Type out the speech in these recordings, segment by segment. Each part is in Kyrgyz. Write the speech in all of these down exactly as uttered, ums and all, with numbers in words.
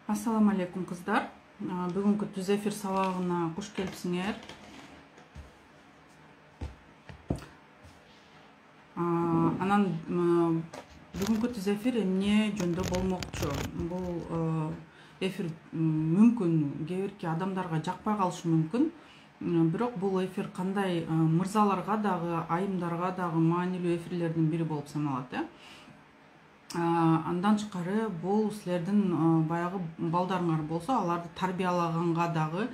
Ассаламу алейкум кыздар. Бүгүнкү түз эфир сабагына куш келипсиңер. Анан бүгүнкү түз эфир эмне жөндө болмокчу? Бул эфир мүмкүн кээ бирки адамдарга жакпай калышы мүмкүн. Бирок бул эфир кандай мырзаларга дагы, айымдарга дагы маанилүү эфирлердин бири болуп саналат. Андан тышкары бул силердин баягы балдарыңар болсо, аларды тарбиялаганга дагы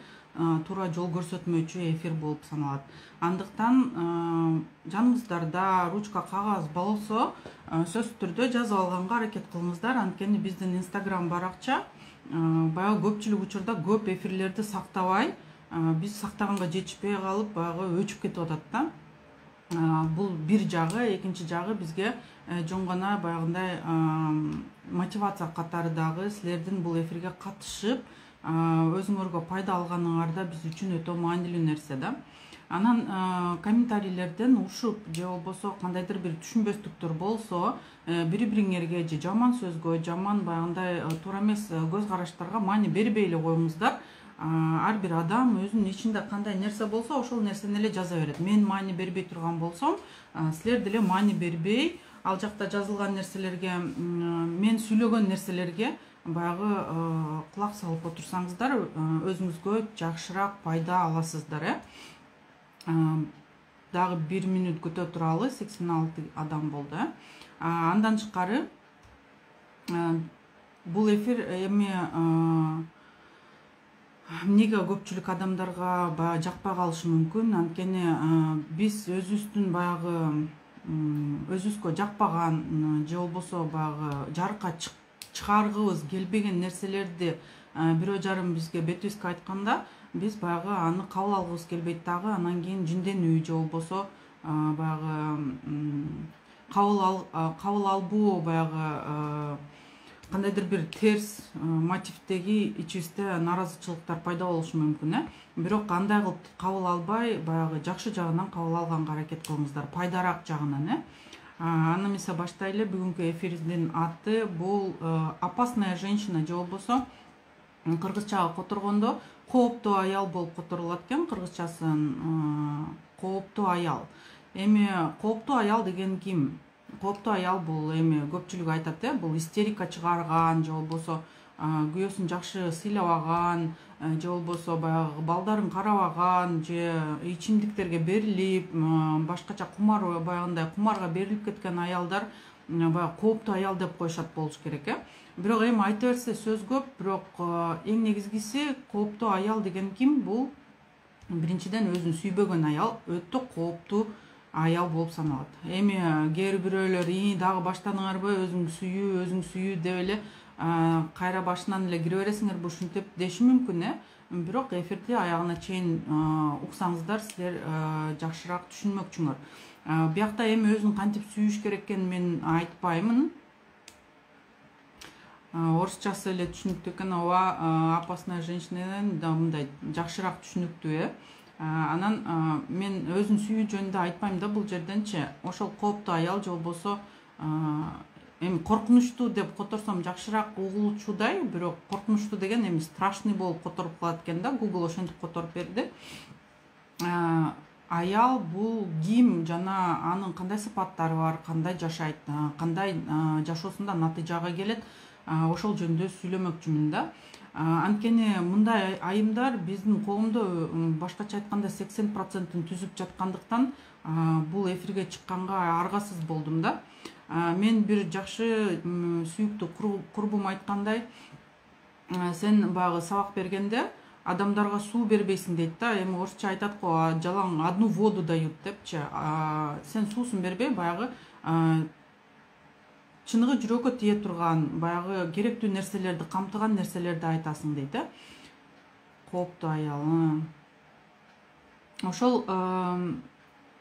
туура жол көрсөтмөчү эфир болуп саналат. Андыктан жаныңыздарда ручка, кагаз болсо, сөзсүз түрдө жазып алганга аракет кылыңыздар. Анткени биздин Instagram баракча баягы көпчүлүк учурда көп эфирлерди сактабай, биз сактаганга жетишпей калып, баягы өчүп кетип атат да. Бул бир жагы, экинчи жагы бизге жөн гана баягындай мотивация катары дагы силердин бул эфирге катышып, өзүңөргө пайда алганыңар да биз үчүн өтө маанилүү нерсе да. Анан комментарийлерден ушуп же болбосо кандайдыр бир түшүнбөстүктөр болсо, бири-бириңерге же жаман сөзгө, жаман баягындай туура эмес көз караштарга маани бербей эле коюңуздар. Ар бир адам өзүнүн ичинде кандай нерсе болсо, ошол нерсени эле жаза берет. Мен маани бербей турган болсом, силер деле маани бербей, ал жакта жазылган нерселерге, мен сүйлөгөн нерселерге баягы кулак салып отурсаңыздар, өзүңүзгө жакшыраак пайда аласыздар. Дагы бир мүнөт күтө туралы, сексен алты адам болду. Андан тышкары бул эфир эми эмнеге көпчүлүк адамдарга баягы жакпай калышы мүмкүн. Анткени биз өзүбүздүн баягы өзүбүзгө жакпаган же болбосо баягы жарыкка чыгаргыбыз келбеген нерселерди бирөө жарым бизге бетибизге айтканда, биз баягы аны кабыл алгыбыз келбейт дагы. Анан кийин жинденүү же болбосо баягы кабыл албоо, баягы кандайдыр бир терс мотивдеги ичибизде наразычылыктар пайда болушу мүмкүн. Бирок андай кылып кабыл албай, баягы жакшы жагынан кабыл алганга аракет кылыңыздар, пайдарак жагынан. Аны эмесе баштайлы. Бүгүнкү эфирдин аты бул опасная женщина же болбосо кыргызчага которгондо кооптуу аял болуп которулат экен. Кыргызчасын кооптуу аял. Эми кооптуу аял деген ким? Кооптуу аял бул эми көпчүлүк айтат, бул истерика чыгарган же болбосо күйөөсүн жакшы сыйлабаган, же болбосо баягы балдарын карабаган, же ичимдиктерге берилип, башкача кумар, баягындай кумарга берилип кеткен аялдар баягы кооптуу аял деп коюшат болуш керек. Бирок эми айта берсе сөз көп, бирок эң негизгиси кооптуу аял деген ким? Бул биринчиден өзүн сүйбөгөн аял өтө кооптуу аял болуп саналат. Эми кээ бирөөлөр "И, дагы баштадыңарбы, өзүң сүйүү, өзүң сүйүү" деп эле кайра башынан эле кире бересиңерби ушинтип деши мүмкүн. Бирок эфирди аягына чейин уксаңыздар, силер жакшыраак түшүнмөкчүңөр. Биякта эми өзүн кантип сүйүш керек экенин мен айтпаймын. Орусчасы эле түшүнүктүү экен, ооба, опасная женщинадан да мындай жакшыраак түшүнүктүү. Анан мен өзүн сүйүү жөнүндө айтпайм да бул жерденчи. Ошол кооптуу аял же болбосо эми коркунучтуу деп которсом жакшыраак угулуучудай, бирок коркунучтуу деген эми страшный болуп которуп калат экен да. Google ошентип которуп берди. Аял бул ким жана анын кандай сыпаттары бар, кандай жашайт, кандай жашоосунда натыйжага келет, ошол жөнүндө сүйлөмөкчүмүн да. Анткени мындай айымдар биздин коомдо башкача айтканда сексен процентин түзүп жаткандыктан бул эфирге чыкканга аргасыз болдум да. Мен бир жакшы сүйүктүү курбум айткандай, сен баягы сабак бергенде адамдарга суу бербейсиң дейт да. Эми орусча айтат го, жалаң одну воду дают депчи. Сен суусун бербей, баягы чыныгы жүрөккө тие турган, баягы керектүү нерселерди камтыган нерселерди айтасың дейт. Кооптуу аял. Ошол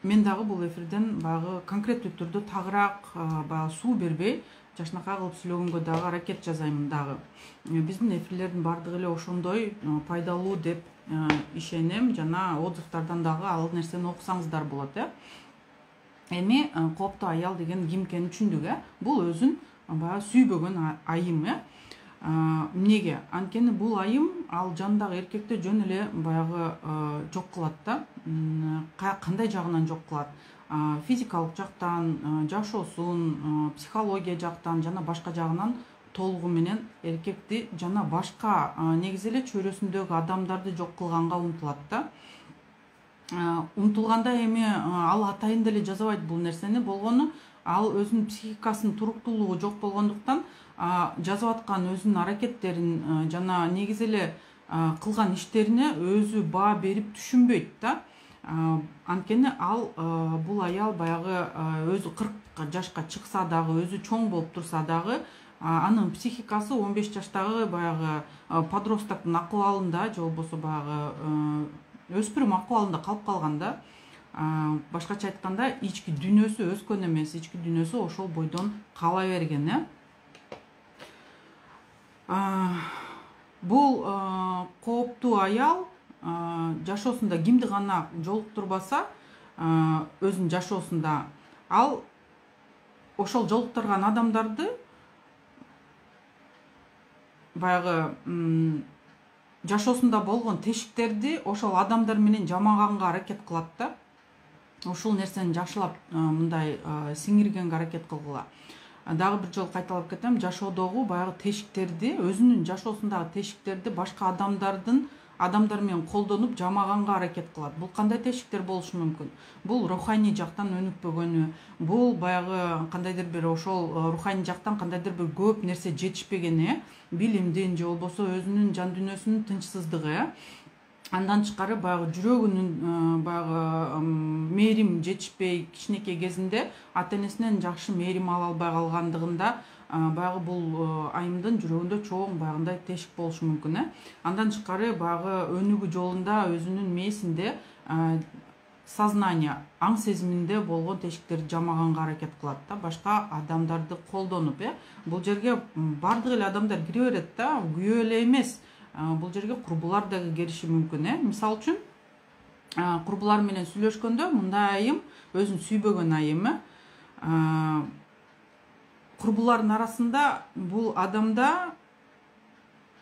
мен дагы бул эфирден баягы конкреттүү түрдө тагыраак баягы суу бербей, жакшынакай кылып сүйлөгөнгө дагы аракет жасаймын дагы. Биздин эфирлердин бардыгы эле ошондой пайдалуу деп ишенем, жана отзывдардан дагы ал нерсени окусаңыздар болот. Эми кооптуу аял деген ким экенин түшүндүк. Бул өзүн баягы сүйбөгөн айым. Эмнеге? Анткени бул айым ал жанындагы эркекти жөн эле баягы жок кылат да. Кандай жагынан жок кылат? Физикалык жактан, жашоосун, психология жактан жана башка жагынан толугу менен эркекти жана башка негизи эле чөйрөсүндөгү адамдарды жок кылганга умтулат да. Умтулганда эми ал атайын деле жазабайт бул нерсени, болгону ал өзүнүн психикасынын туруктуулугу жок болгондуктан жазып аткан өзүнүн аракеттерин жана негизи эле кылган иштерине өзү баа берип түшүнбөйт да. Анткени ал бул аял баягы өзү кырк жашка чыкса дагы, өзү чоң болуп турса дагы, анын психикасы он беш жаштагы баягы подростоктун акыбалында же болбосо баягы өспүрүм акыбалында калып калган да. Башкача айтканда, ички дүйнөсү өскөн эмес, ички дүйнөсү ошол бойдон кала берген, э. Бул кооптуу аял жашоосунда кимди гана жолуктурбаса, өзүнүн жашоосунда ал ошол жолуктурган адамдарды баягы жашоосунда болгон тешиктерди ошол адамдар менен жамаганга аракет кылат да. Ушул нерсени жакшылап мындай сиңиргенге аракет кылгыла. Дагы бир жолу кайталап кетем, жашоодогу баягы тешиктерди, өзүнүн жашоосундагы тешиктерди башка адамдардын адамдар менен колдонуп жамаганга аракет кылат. Бул кандай тешиктер болушу мүмкүн? Бул руханий жактан өнүкпөгөнү, бул баягы кандайдыр бир ошол руханий жактан кандайдыр бир көп нерсе жетишпегени, билимдин же болбосо өзүнүн жан дүйнөсүнүн тынчсыздыгы, андан тышкары баягы жүрөгүнүн баягы мээрим жетишпей, кичинекей кезинде ата энесинен жакшы мээрим ала албай калгандыгында баягы бул айымдын жүрөгүндө чоң баягындай тешик болушу мүмкүн, э. Андан тышкары баягы өнүгүү жолунда өзүнүн мээсинде сознание, аң сезиминде болгон тешиктерди жамаганга аракет кылат да, башка адамдарды колдонуп, э. Бул жерге бардык эле адамдар кире берет да, күйөө эле эмес. Бул жерге курбулар дагы кириши мүмкүн, э. Мисалы үчүн, курбулар менен сүйлөшкөндө мындай айым, өзүн сүйбөгөн айым, э. Курбулардын арасында бул адамда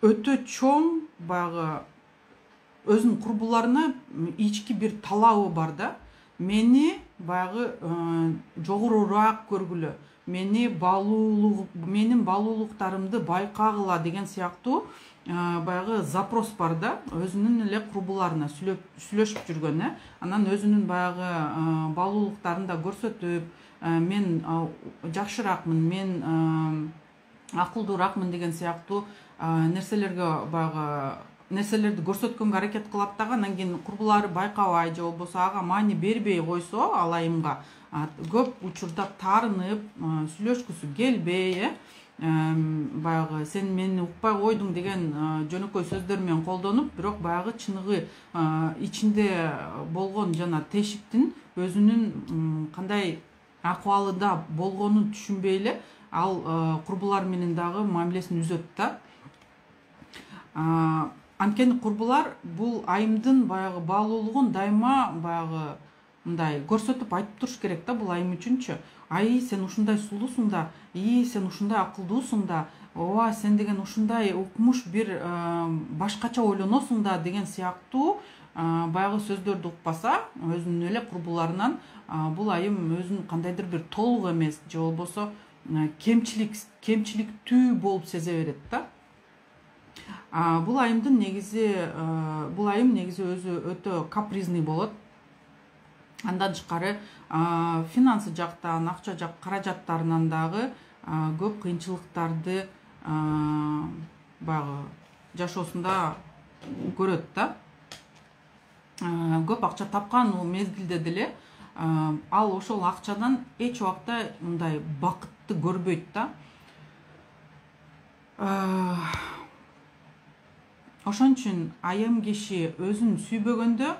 өтө чоң баягы өзүнүн курбуларына ички бир талабы бар да. Мени баягы жогорураак көргүлө, мени баалуулук, менин баалуулуктарымды байкагыла деген сыяктуу баягы запрос бар да, өзүнүн эле курбуларына сүйлөшүп жүргөн, э. Анан өзүнүн баягы баалуулуктарын да көрсөтүп, мен жакшыраакмын, мен акылдуураакмын деген сыяктуу нерселерге баягы нерселерди көрсөткөнгө аракет кылат дагы. Анан кийин курбулары байкабай же болбосо ага маани бербей койсо ал айымга көп учурда таарынып, сүйлөшкүсү келбей, э. Баягы сен мени укпай койдуң деген жөнөкөй сөздөр менен колдонуп, бирок баягы чыныгы ичинде болгон жана тешиктин өзүнүн кандай акыбалында болгонун түшүнбөй эле ал курбулар менен дагы мамилесин үзөт да. Анткени курбулар бул айымдын баягы баалуулугун дайыма баягы мындай көрсөтүп айтып туруш керек да, бул айым үчүнчү. Ай, сен ушундай сулуусуң да, и сен ушундай акылдуусуң да, ооба сен деген ушундай укмуш бир башкача ойлоносуң да деген сыяктуу баягы сөздөрдү укпаса өзүнүн эле курбуларынан, бул айым өзүн кандайдыр бир толук эмес же болбосо кемчилик кемчиликтүү болуп сезе берет да. Бул айымдын негизи бул айым негизи өзү өтө капризный болот. Андан тышкары финансы жактан, акча жак каражаттарынан дагы көп кыйынчылыктарды баягы жашоосунда көрөт да. Көп акча тапкан мезгилде деле ал ошол акчадан эч убакта мындай бакытты көрбөйт да. Ошон үчүн айым киши өзүн сүйбөгөндө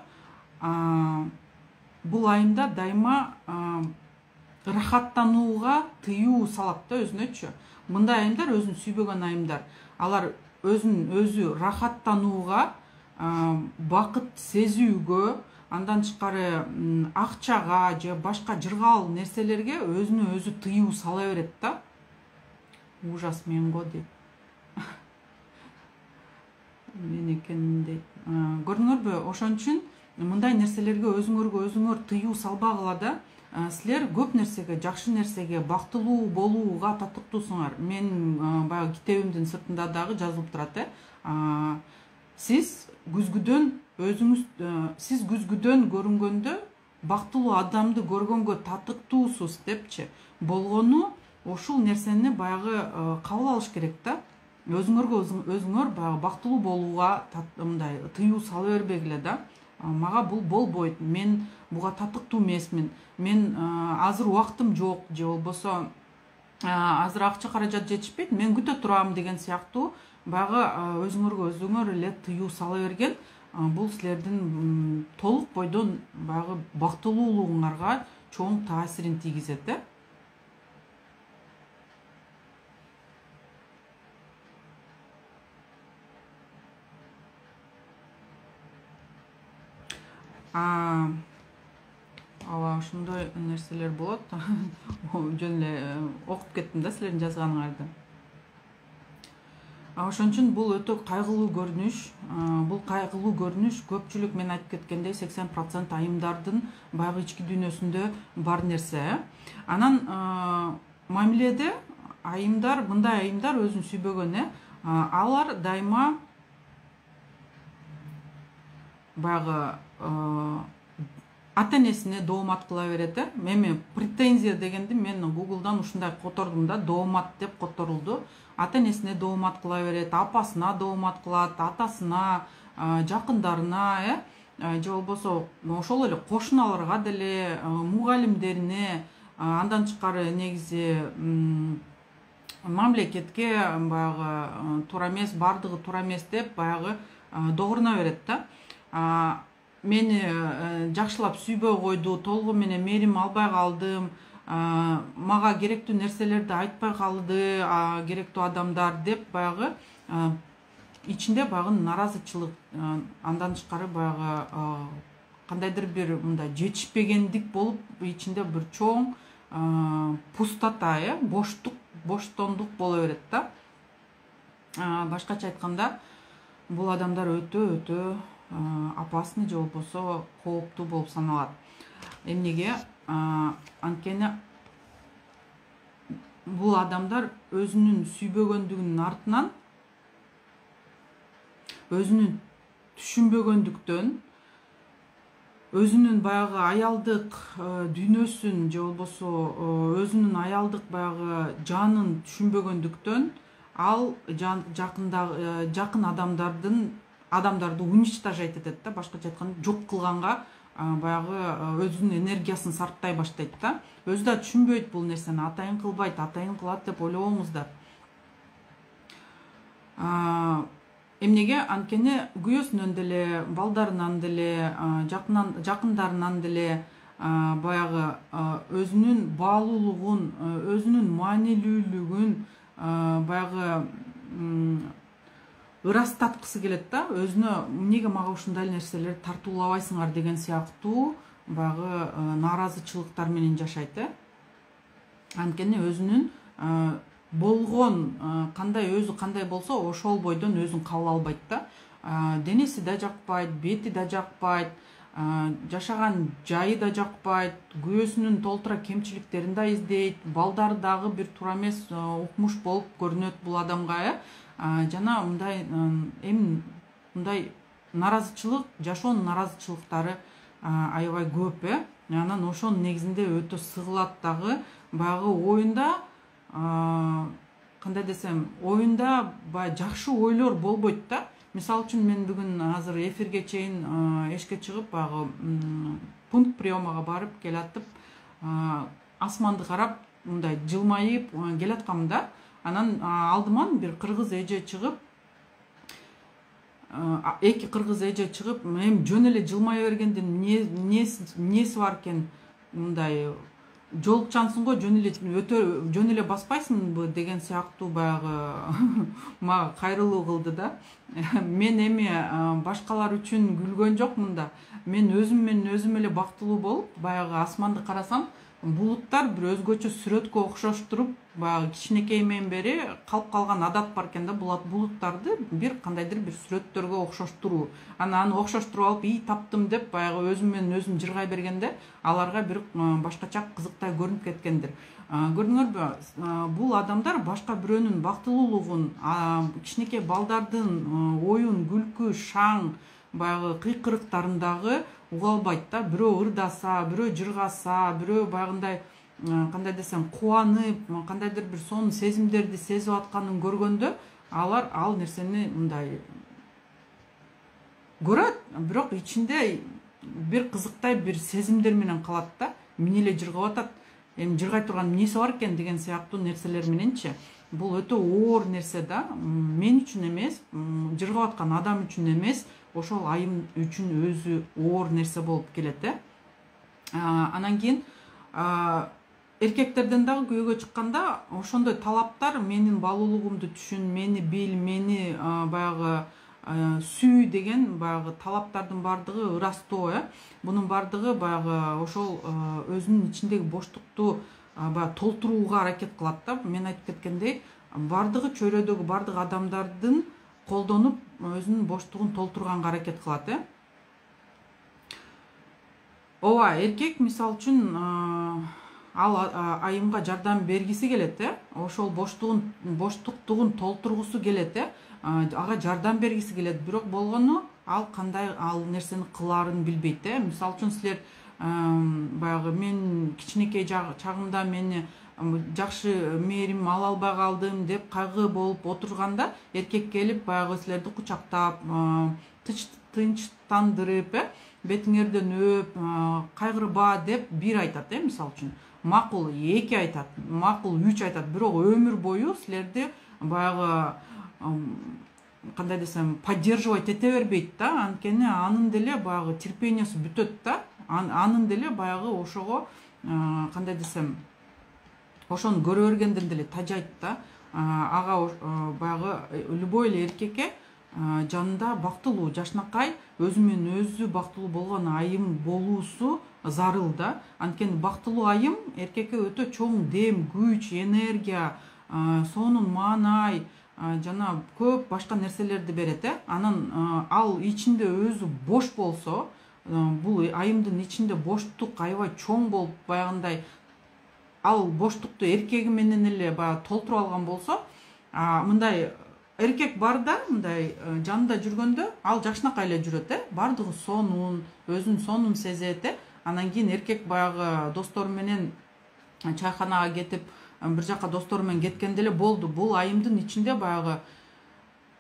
бул айымда дайыма ырахаттанууга тыюу салат да өзүнөчү. Мындай айымдар, өзүн сүйбөгөн айымдар, алар өзүн өзү рахаттанууга, бакыт сезүүгө, андан тышкары акчага же башка жыргал нерселерге өзүнө өзү тыюу сала берет да. Ужас мен го дейт. мен экен дейт. Көрдүңөрбү, ошон үчүн мындай нерселерге өзүңөргө өзүңөр тыюу салбагыла да. Силер көп нерсеге, жакшы нерсеге, бактылуу болууга татыктуусуңар. Мен баягы китебимдин сыртында дагы жазылып турат э. Сиз күзгүдөн өзүңүз сиз күзгүдөн көрүнгөндө бактылуу адамды көргөнгө татыктуусуз депчи. Болгону ушул нерсени баягы кабыл алыш керек да. Өзүңөргө өзүңөр баягы бактылуу болууга мындай тыюу сала бербегиле да. Мага бул болбойт, мен буга татыктуу эмесмин, мен азыр убактым жок, же болбосо азыр акча каражат жетишпейт, мен күтө турам деген сыяктуу баягы өзүңөргө өзүңөр эле тыюу сала берген бул силердин толук бойдон баягы бактылуулугуңарга чоң таасирин тийгизет э. Ооба, ошондой нерселер болот. Жөн эле окуп кеттим да силердин жазганыңарды. Ошон үчүн бул өтө кайгылуу көрүнүш. Бул кайгылуу көрүнүш көпчүлүк, мен айтып кеткендей, сексен процент айымдардын баягы ички дүйнөсүндө бар нерсе. Анан мамиледе айымдар, мындай айымдар өзүн сүйбөгөн э. Алар дайыма баягы ата-энесине доомат кыла берет э. Эми претензия дегенди мен Google'дан ушундай котордум да, доомат деп которулду. Ата-энесине доомат кыла берет, апасына доомат кылат, атасына, жакындарына э, же болбосо ошол эле кошуналарга деле, мугалимдерине, андан тышкары негизи мамлекетке баягы туура эмес, бардыгы туура эмес деп баягы догуруна берет да. Мени жакшылап сүйбөй койду, толугу менен мээрим албай калдым, мага керектүү нерселерди айтпай калды керектүү адамдар деп баягы ичинде баягы наразычылык, андан тышкары баягы кандайдыр бир мындай жетишпегендик болуп, ичинде бир чоң пустота, э, боштук, боштондук боло берет да. Башкача айтканда, бул адамдар өтө өтө опасный же болбосо кооптуу болуп саналат. Эмнеге? Анткени бул адамдар өзүнүн сүйбөгөндүгүнүн артынан, өзүнүн түшүнбөгөндүктөн, өзүнүн баягы аялдык дүйнөсүн же болбосо өзүнүн аялдык баягы жанын түшүнбөгөндүктөн ал жакында жакын адамдардын адамдарды уничтожать этет да, башкача айтканда жок кылганга баягы өзүнүн энергиясын сарптай баштайт да. Өзү да түшүнбөйт бул нерсени, атайын кылбайт, атайын кылат деп ойлобоңуздар. Эмнеге? Анткени күйөөсүнөн деле, балдарынан деле, жакындарынан деле баягы өзүнүн баалуулугун, өзүнүн маанилүүлүгүн баягы ырастаткысы келет да. Өзүнө эмнеге мага ушундай нерселерди тартуулабайсыңар деген сыяктуу баягы нааразычылыктар менен жашайт э. Анткени өзүнүн болгон кандай, өзү кандай болсо ошол бойдон өзүн кабыл албайт да. Денеси да жакпайт, бети да жакпайт, жашаган жайы да жакпайт, күйөөсүнүн толтура кемчиликтерин да издейт, балдары дагы бир туура эмес укмуш болуп көрүнөт бул адамга э. Жана мындай эми мындай наразычылык, жашоонун наразычылыктары аябай көп э. Анан ошонун негизинде өтө сыгылат дагы. Баягы оюнда, кандай десем, оюнда баягы жакшы ойлор болбойт да. Мисалы үчүн мен бүгүн азыр эфирге чейин эшикке чыгып, баягы пункт приемага барып келатып, асманды карап, мындай жылмайып келаткам да. Анан алдыман бир кыргыз эже чыгып, эки кыргыз эже чыгып, эми жөн эле жылмая бергендин эмнеси бар экен, мындай жолукчансың го, жөн эле өтө жөн эле баспайсыңбы деген сыяктуу баягы мага кайрылуу кылды да. Мен эми башкалар үчүн күлгөн жокмун да. мен өзүм менен өзүм эле бактылуу болуп баягы асманды карасам, булуттар бир өзгөчө сүрөткө окшоштуруп, баягы кичинекейимден бери калып калган адат бар экен да, булуттарды бир кандайдыр бир сүрөттөргө окшоштуруу. Анан аны окшоштуруп алып, "И, таптым" деп баягы өзүм менен өзүм жыргай бергенде, аларга бир башкача кызыктай көрүнүп кеткендир. Көрдүңөрбү, бул адамдар башка бирөөнүн бактылуулугун, кичинекей балдардын оюн, күлкү, шаң, баягы кыйкырыктарындагы уга албайт да. Бирөө ырдаса, бирөө жыргаса, бирөө баягындай кандай десем кубанып, кандайдыр бир сонун сезимдерди сезип атканын көргөндө, алар ал нерсени мындай көрөт, бирок ичинде бир кызыктай бир сезимдер менен калат да. Мен эле жыргап атат, эми жыргай турган эмнеси бар экен деген сыяктуу нерселер мененчи. Бул өтө оор нерсе да. Мен үчүн эмес, жыргап аткан адам үчүн эмес, ошол айым үчүн өзү оор нерсе болуп келет э. Анан кийин эркектерден дагы күйөөгө чыкканда, ошондой талаптар менин баалуулугумду түшүн, мени бил, мени баягы сүй деген баягы талаптардын бардыгы ырастоо э. Бунун бардыгы баягы ошол өзүнүн ичиндеги боштукту баягы толтурууга аракет кылат да. Мен айтып кеткендей, бардыгы чөйрөдөгү бардык адамдардын колдонуп өзүнүн боштугун толтурганга аракет кылат э. Ооба, эркек мисалы үчүн ал айымга жардам бергиси келет э. Ошол боштугун боштуктугун толтургусу келет э. Ага жардам бергиси келет, бирок болгону ал кандай ал нерсени кылаарын билбейт э. Мисалы үчүн силер баягы мен кичинекей чагымда мени жакшы мээрим ала албай калдым деп кайгы болуп отурганда, эркек келип баягы силерди кучактап, тынчтандырып э, бетиңерден өп, кайгырба деп бир айтат э. Мисалы үчүн макул эки айтат, макул үч айтат, бирок өмүр бою силерди баягы кандай десем поддерживать эте бербейт да. Анткени анын деле баягы терпениясы бүтөт да. Анын деле баягы ошого кандай десем ошону көрө бергенден деле тажайт да. Ага баягы любой эле эркекке жанында бактылуу, жашнакай, өзү менен өзү бактылуу болгон айым болуусу зарыл да. Анткени бактылуу айым эркекке өтө чоң дем, күч, энергия, сонун маанай жана көп башка нерселерди берет э. Анан ал ичинде өзү бош болсо, бул айымдын ичинде боштук аябай чоң болуп, баягындай ал боштукту эркеги менен эле баягы толтуруп алган болсо, мындай эркек бар да, мындай жанында жүргөндө ал жакшынакай эле жүрөт э. Бардыгы сонун, өзүн сонун сезет э. Анан кийин эркек баягы достору менен чайканага кетип, бир жака достору менен кеткенде эле болду. Бул айымдын ичинде баягы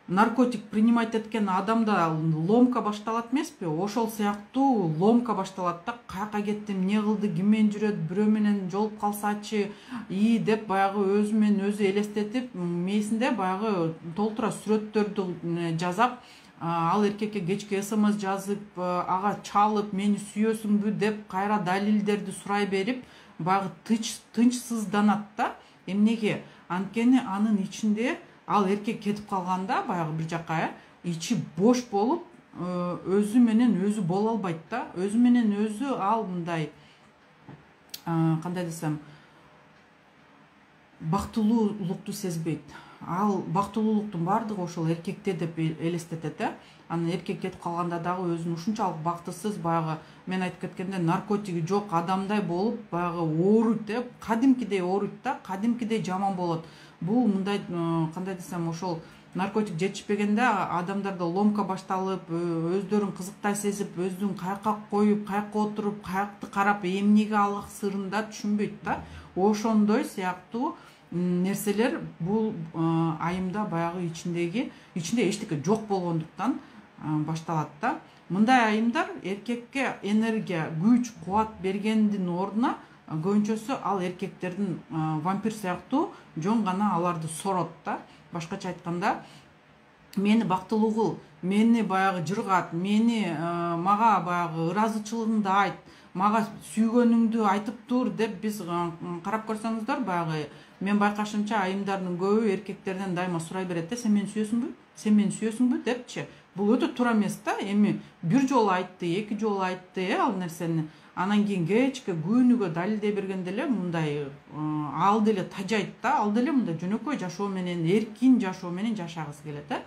наркотик принимать эткен адамда ломка башталат эмеспи? Ошол сыяктуу ломка башталат да. Каяка кеттим, эмне кылды, ким менен жүрөт, бирөө менен жолуп калсачы, и деп баягы өзү менен өзү элестетип, мээсинде баягы толтура сүрөттөрдү жасап, ал эркекке кечки смс жазып, ага чалып, мени сүйөсүңбү деп кайра далилдерди сурай берип, баягы тынчсызданат да. Эмнеге? Анткени анын ичинде ал эркек кетип калганда баягы бир жака э, ичи бош болуп, өзү менен өзү боло албайт да. Өзү менен өзү ал мындай кандай десем бактылуулукту сезбейт. Ал бактылуулуктун бардыгы ошол эркекте деп элестетет э. Анан эркек кетип калганда дагы өзүн ушунчалык бактысыз, баягы мен айтып кеткенде наркотиги жок адамдай болуп, баягы ооруйт э. Кадимкидей ооруйт да, кадимкидей жаман болот. Бул мындай кандай десем ошол наркотик жетишпегенде адамдарда ломка башталып, өздөрүн кызыктай сезип, өздүн каяка коюп, каяка отуруп, каякты карап, эмнеге алак сырын да түшүнбөйт да. Ошондой сыяктуу нерселер бул айымда баягы ичиндеги ичинде эчтеке жок болгондуктан башталат да. Мындай айымдар эркекке энергия, күч, кубат бергендин ордуна көбүнчөсү ал эркектердин вампир сыяктуу жөн гана аларды сорот да. Башкача айтканда, мени бактылуу кыл, мени баягы жыргат, мени мага баягы ыраазычылыгыңды айт, мага сүйгөнүңдү айтып тур деп биз карап көрсөңүздөр, баягы мен байкашымча айымдардын көбү эркектерден дайыма сурай берет да, сен мени сүйөсүңбү? Сен мени сүйөсүңбү депчи. бул өтө туура эмес да. Эми бир жолу айтты, эки жолу айтты э ал нерсени. Анан кийин кечке күнүгө далилдей бергенде эле мындай ал деле тажайт да, ал деле мындай жөнөкөй жашоо менен, эркин жашоо менен жашагысы келет э.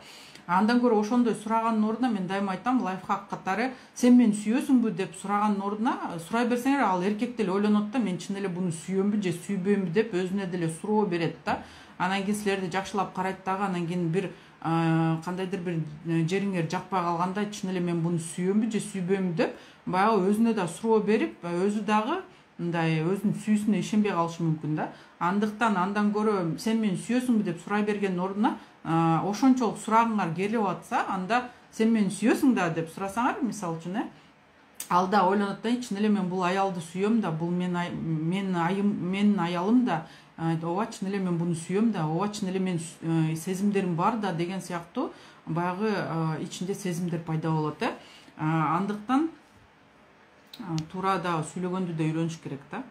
Андан көрө ошондой сураганын ордуна мен дайыма айтам, лайфхак катары сен мени сүйөсүңбү деп сураганын ордуна сурай берсеңер, ал эркек деле ойлонот да, мен чын эле буну сүйөмбү же сүйбөймбү деп өзүнө деле суроо берет да. Анан кийин силерди жакшылап карайт дагы, анан кийин бир кандайдыр бир жериңер жакпай калганда чын эле мен буну сүйөмбү же сүйбөймбү деп баягы өзүнө да суроо берип, өзү дагы мындай өзүнүн сүйүүсүнө ишенбей калышы мүмкүн да. Андыктан андан көрө сен мени сүйөсүңбү деп сурай бергендин ордуна ошончолук сурагыңар келип атса, анда сен мени сүйөсүң да деп сурасаңар, мисалы үчүн э, ал да ойлонот да, чын эле мен бул аялды сүйөм да, бул мен мен айым менин аялым да, ооба чын эле мен буну сүйөм да, ооба чын эле мен сезимдерим бар да деген сыяктуу баягы ичинде сезимдер пайда болот э. Андыктан туура да сүйлөгөндү да үйрөнүш керек да.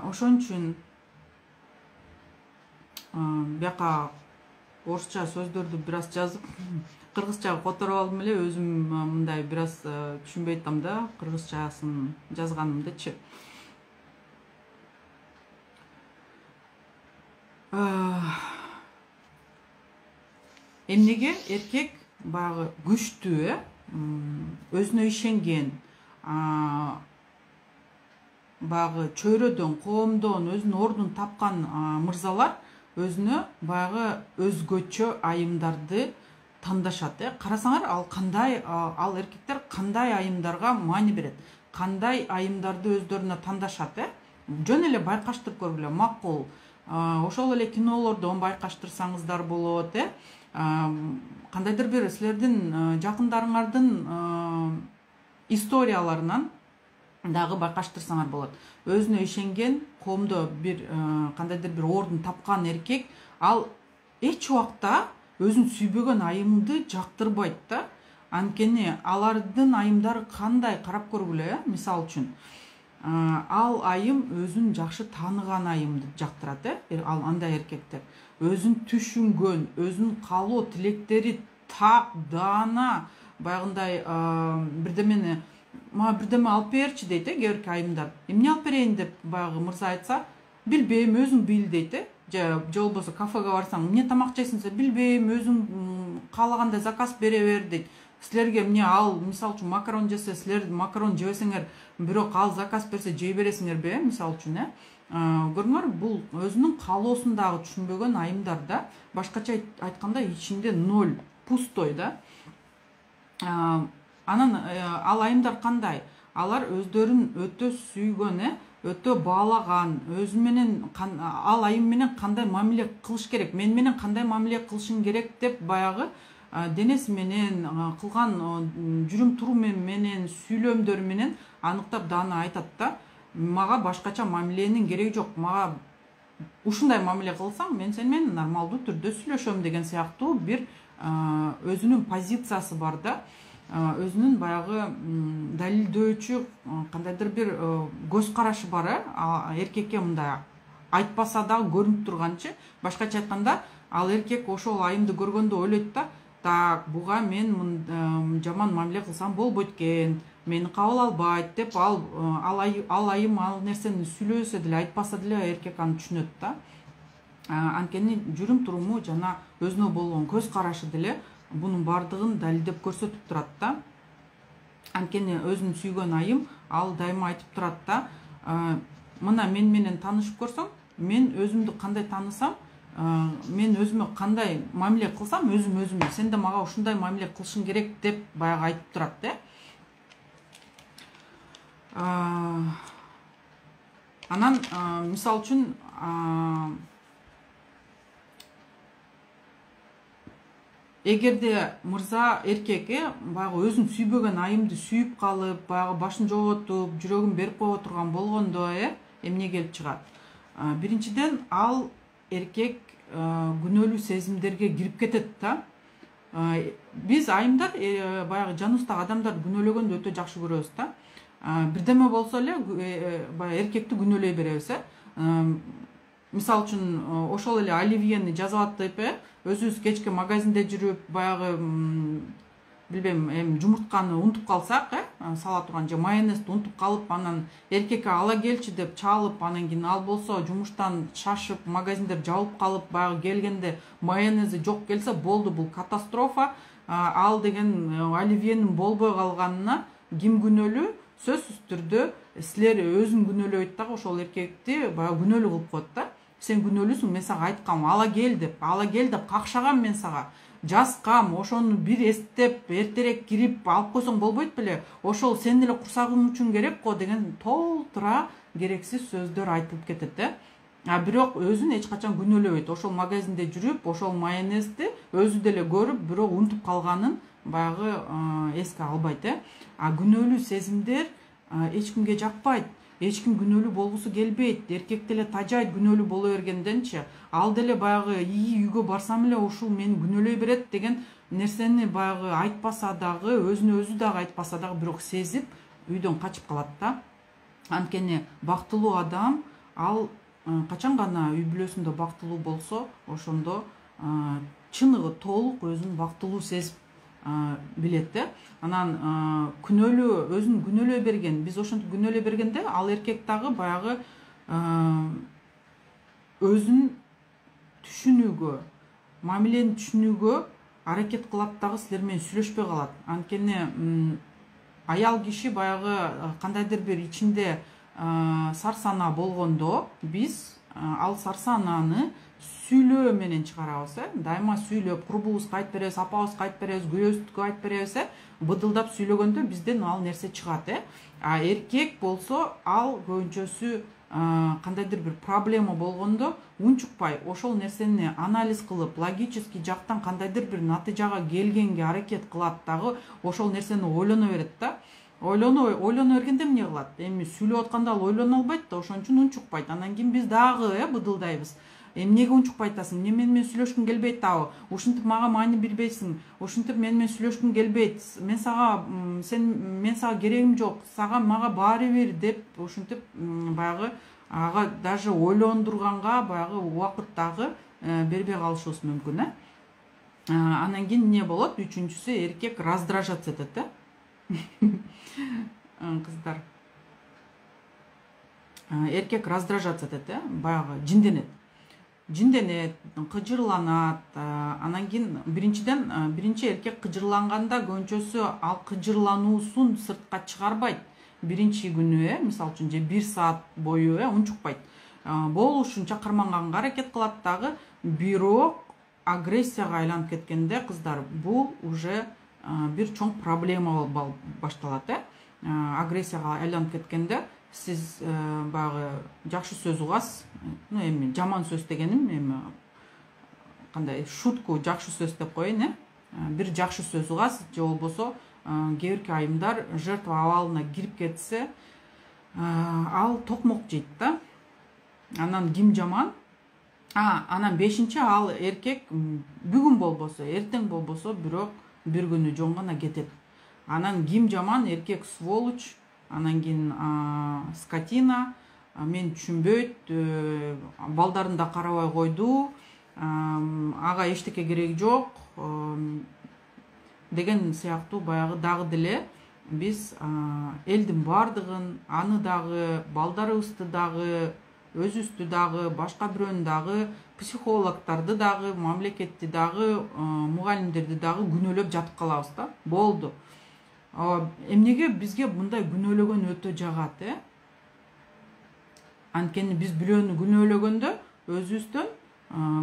Ошон үчүн бияка орусча сөздөрдү бир аз жазып, кыргызчага которуп алдым эле, өзүм мындай бир аз түшүнбөй атам да, кыргызчасын жазганымдычы. Эмнеге эркек баягы күчтүү э, өзүнө ишенген, баягы чөйрөдөн, коомдон өзүнүн ордун тапкан мырзалар өзүнө баягы өзгөчө айымдарды тандашат э. Карасаңар, ал кандай ал эркектер кандай айымдарга маани берет, кандай айымдарды өздөрүнө тандашат э. Жөн эле байкаштырып көргүлө, макул. Ошол эле кинолордон байкаштырсаңыздар болот э. Кандайдыр бир силердин жакындарыңардын историяларынан дагы байкаштырсаңар болот. Өзүнө ишенген, коомдо бир кандайдыр бир ордун тапкан эркек, ал эч убакта өзүн сүйбөгөн айымды жактырбайт да. Анткени алардын айымдары кандай, карап көргүлө э. Мисалы үчүн, ал айым өзүн жакшы тааныган айымды жактырат э. Ал андай эркектер өзүн түшүнгөн, өзүнүн каалоо тилектери так, даана, баягындай бирдемени мага бирдеме алып берчи дейт э кээ бирки айымдар. Эмне алып берейин деп баягы мырза айтса, билбейм, өзүң бил дейт э. Же болбосо кафеге барсаң, эмне тамак жейсиң десе, билбейм, өзүң каалагандай заказ бере бер дейт. Силерге эмне ал, мисалы үчүн макарон жесе, силер макарон жебесеңер, бирок ал заказ берсе жей бересиңерби э, мисалы үчүн э. Көрүңөр, бул өзүнүн каалоосун дагы түшүнбөгөн айымдар да. Башкача айтканда ичинде ноль, пустой да. Анан ал айымдар кандай? Алар өздөрүн өтө сүйгөн э, өтө баалаган, өзү менен ал айым менен кандай мамиле кылыш керек, мен менен кандай мамиле кылышың керек деп баягы денеси менен, кылган жүрүм турум менен, сүйлөмдөр менен аныктап даана айтат да. Мага башкача мамиленин кереги жок. Мага ушундай мамиле кылсаң, мен сен менен нормалдуу түрдө сүйлөшөм деген сыяктуу бир өзүнүн позициясы бар да. Өзүнүн баягы далилдөөчү кандайдыр бир көз карашы бар э. Эркекке мындай айтпаса дагы көрүнүп турганчы. Башкача айтканда, ал эркек ошол айымды көргөндө ойлойт да, так, буга мен жаман мамиле кылсам болбойт экен, мени кабыл албайт деп, ал ал айым ал нерсени сүйлөсө деле, айтпаса деле эркек аны түшүнөт да. Анткени жүрүм туруму жана өзүнө болгон көз карашы деле бунун бардыгын далилдеп көрсөтүп турат да. Анткени өзүн сүйгөн айым ал дайыма айтып турат да, мына мен менен таанышып көрсөң, мен өзүмдү кандай таанысам, мен өзүмө кандай мамиле кылсам, өзүм өзүмө, сен да мага ушундай мамиле кылышың керек деп баягы айтып турат да. Анан мисалы үчүн эгерде мырза эркек э баягы өзүн сүйбөгөн айымды сүйүп калып, баягы башын жоготуп, жүрөгүн берип кое турган болгондо э эмне келип чыгат? Биринчиден, ал эркек күнөөлүү сезимдерге кирип кетет да. Биз айымдар баягы жаныбыздагы адамдарды күнөөлөгөндү өтө жакшы көрөбүз да. Бирдеме болсо эле баягы эркекти күнөөлөй беребиз э. Мисалы үчүн ошол эле Оливьени жазып атып э, өзүбүз кечке магазинде жүрүп баягы билбейм эми жумуртканы унутуп калсак, э сала турган же майонезди унутуп калып, анан эркекке ала келчи деп чалып, анан кийин ал болсо жумуштан шашып, магазиндер жабылып калып, баягы келгенде майонези жок келсе, болду, бул катастрофа. Ал деген оливьенин болбой калганына ким күнөөлүү? Сөзсүз түрдө силер өзүн күнөөлөйт дагы, ошол эркекти баягы күнөөлүү кылып коет да. Сен күнөөлүүсүң, мен сага айткам, ала кел деп, ала кел деп какшагам мен сага. Жазкам, ошону бир эстеп, эртерээк кирип алып койсоң болбойт беле? Ошол сенин эле курсагың үчүн керек го деген толтура керексиз сөздөр айтылып кетет, э. А бирок өзүн эч качан күнөөлөбөйт. Ошол магазинде жүрүп, ошол майонезди өзү деле көрүп, бирок унутуп калганын баягы эске албайт, э. А күнөөлүү сезимдер эч кимге жакпайт. Эч ким күнөөлүү болгусу келбейт. Эркек деле тажайт күнөөлүү боло бергенденчи. Ал деле баягы ии үйгө барсам эле ушул мени күнөөлөй берет деген нерсени баягы айтпаса дагы, өзүнө өзү дагы айтпаса дагы, бирок сезип үйдөн качып калат да. Анткени бактылуу адам ал качан гана үй бүлөсүндө бактылуу болсо, ошондо чыныгы толук өзүн бактылуу сезип билет, э. Анан күнөөлүү, өзүн күнөөлөй берген, биз ошентип күнөөлөй бергенде, ал эркек дагы баягы өзүн түшүнүүгө, мамилени түшүнүүгө аракет кылат дагы, силер менен сүйлөшпөй калат. Анткени аял киши баягы кандайдыр бир ичинде сарсанаа болгондо, биз ал сарсанааны сүйлөө менен чыгарабыз, э. Дайыма сүйлөп, курбубузга айтып беребиз, апабызга айтып беребиз, күйөөбүзгө айтып беребиз, э. Быдылдап сүйлөгөндө бизден ал нерсе чыгат, э. А эркек болсо, ал көбүнчөсү кандайдыр бир проблема болгондо унчукпай, ошол нерсени анализ кылып, логический жактан кандайдыр бир натыйжага келгенге аракет кылат дагы, ошол нерсени ойлоно берет да. Ойлоно ойлоно бергенде эмне кылат? Эми сүйлөп атканда ал ойлоно албайт да, ошон үчүн унчукпайт. Анан кийин биз дагы, э, быдылдайбыз. Эмнеге унчукпай атасың? Эмне мени менен сүйлөшкүң келбейт дагы? Ушинтип мага маани бербейсиң. Ушинтип мени менен сүйлөшкүң келбейт. Мен сага, сен мен сага керегим жок. Сага мага баары бир деп ушинтип баягы ага даже ойлондурганга баягы убакыт дагы бербей калышыбыз мүмкүн, э. Анан кийин эмне болот? Үчүнчүсү, эркек раздражаться этет, э. Кыздар. Эркек раздражаться этет, э, баягы жинденет. Жинденет, кыжырланат. Анан кийин биринчиден, биринчи эркек кыжырланганда көбүнчөсү ал кыжырлануусун сыртка чыгарбайт. Биринчи күнү, э, мисалы үчүн же бир саат бою, э, унчукпайт. Болушунча карманганга аракет кылат дагы, бирок агрессияга айланып кеткенде, кыздар, бул уже бир чоң проблема башталат, э. Агрессияга айланып кеткенде, сиз баягы жакшы сөз угасыз, ну эми жаман сөз дегеним эми кандай шутку жакшы сөз деп коеюн, э. Бир жакшы сөз угасыз, же болбосо кээ бирки айымдар жертва абалына кирип кетсе, ал токмок жейт да. Анан ким жаман? А, анан бешинчи, ал эркек бүгүн болбосо, эртең болбосо, бирок бир күнү жөн гана кетет. Анан ким жаман? Эркек сволочь, анан кийин скотина, мен түшүнбөйт, балдарын да карабай койду, ага эчтеке кереги жок деген сыяктуу баягы дагы деле биз элдин бардыгын, аны дагы, балдарыбызды дагы, өзүбүздү дагы, башка бирөөнү дагы, психологдорду дагы, мамлекетти дагы, мугалимдерди дагы күнөөлөп жатып калабыз да. Болду. Эмнеге бизге мындай күнөөлөгөн өтө жагат, э? Анткени биз бирөөнү күнөөлөгөндө өзүбүздөн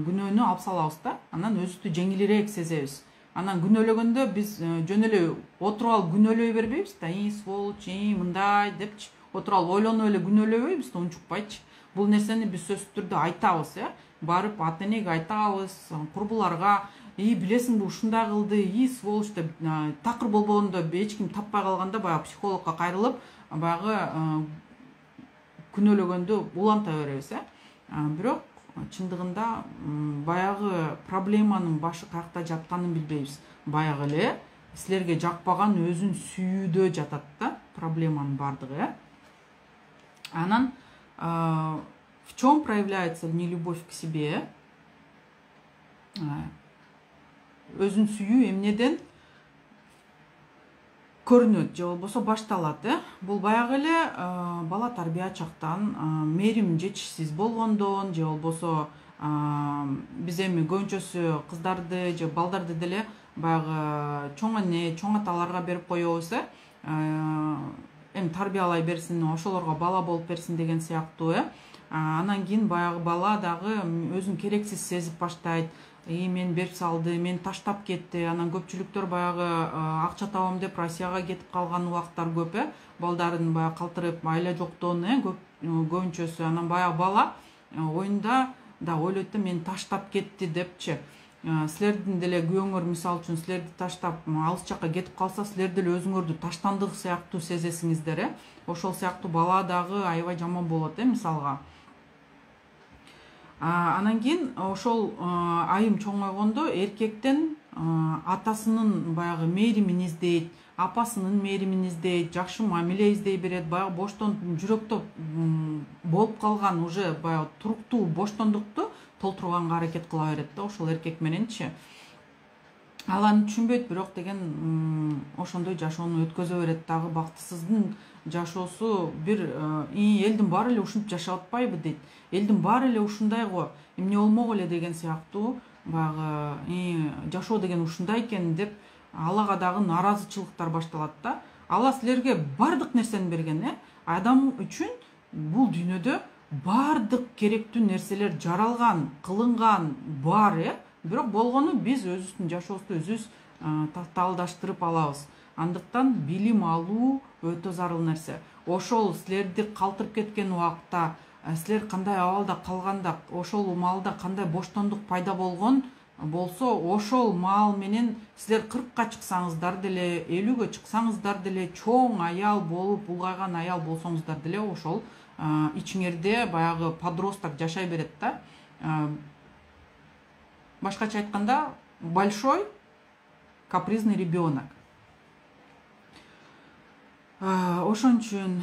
күнөөнү алып салабыз да. Анан өзүбүздү жеңилирээк сезебиз. Анан күнөөлөгөндө биз жөн эле отуруп алып күнөөлөй бербейбиз да, и сволочь, и мындай депчи. Отуруп алып ойлонуп эле күнөөлөбөйбүз да, унчукпайчы. Бул нерсени биз сөзсүз түрдө айтабыз, э? Барып ата энеге айтабыз, курбуларга, и билесиңби ушундай кылды, и сволочь деп, такыр болбогондо эч ким таппай калганда баягы психологко кайрылып, баягы күнөөлөгөндө уланта беребиз, э? Бирок чындыгында баягы проблеманын башы каякта жатканын билбейбиз. Баягы эле силерге жакпаган өзүн сүйүүдө жатат да, проблеманын бардыгы, э? Анан в чем проявляется нелюбовь к себе? өзүн сүйүү эмнеден көрүнөт же болбосо башталат. э Бул баягы эле бала тарбия чактан мээрим жетишсиз болгондон же болбосо биз эми көбүнчөсү кыздарды же балдарды деле баягы чоң эне чоң аталарга берип коебуз. э эми тарбиялай берсин, ошолорго бала болуп берсин деген сыяктуу. э Анан кийин баягы бала дагы өзүн керексиз сезип баштайт. И мен берип салды, мен таштап кетти. Анан көпчүлүктөр баягы акча табам деп Россияга кетип калган убактар көп. э Балдарын баягы калтырып айла жоктон э көбүнчөсү. Анан баягы бала оюнда да ойлойт да мен таштап кетти депчи. Силердин деле күйөөңөр мисалы үчүн силерди таштап алыс жакка кетип калса, силер деле өзүңөрдү таштандык сыяктуу сезесиңиздер. э Ошол сыяктуу бала дагы аябай жаман болот э мисалга. Анан кийин ошол айым чоңойгондо эркектен атасынын баягы мээримин издейт, апасынын мээримин издейт, жакшы мамиле издей берет. Баягы боштон жүрөктө болуп калган уже баягы туруктуу боштондукту толтурганга аракет кыла берет да ошол эркек мененчи. Ал аны түшүнбөйт, бирок деген ошондой жашоону өткөзө берет. Дагы бактысыздын жашоосу бир элдин баары эле ушинтип жашап атпайбы дейт. Элдин баары эле ушундай го, эмне болмок эле деген сыяктуу баягы жашоо деген ушундай экен деп алага дагы нааразычылыктар башталат да. Ала силерге бардык нерсени берген. э Адам үчүн бул дүйнөдө бардык керектүү нерселер жаралган, кылынган бар. э Бирок болгону биз өзүбүздүн жашообузду өзүбүз татаалдаштырып алабыз. Андыктан билим алуу өтө зарыл нерсе. Ошол силерди калтырып кеткен убакта силер кандай абалда калганда, ошол маалда кандай боштондук пайда болгон болсо, ошол маал менен силер кыркка чыксаңыздар деле, элүүгө чыксаңыздар деле, чоң аял болуп, улгайган аял болсоңуздар деле, ошол ичиңерде баягы подросток жашай берет да. Башкача айтканда, большой капризный ребенок. Ошон үчүн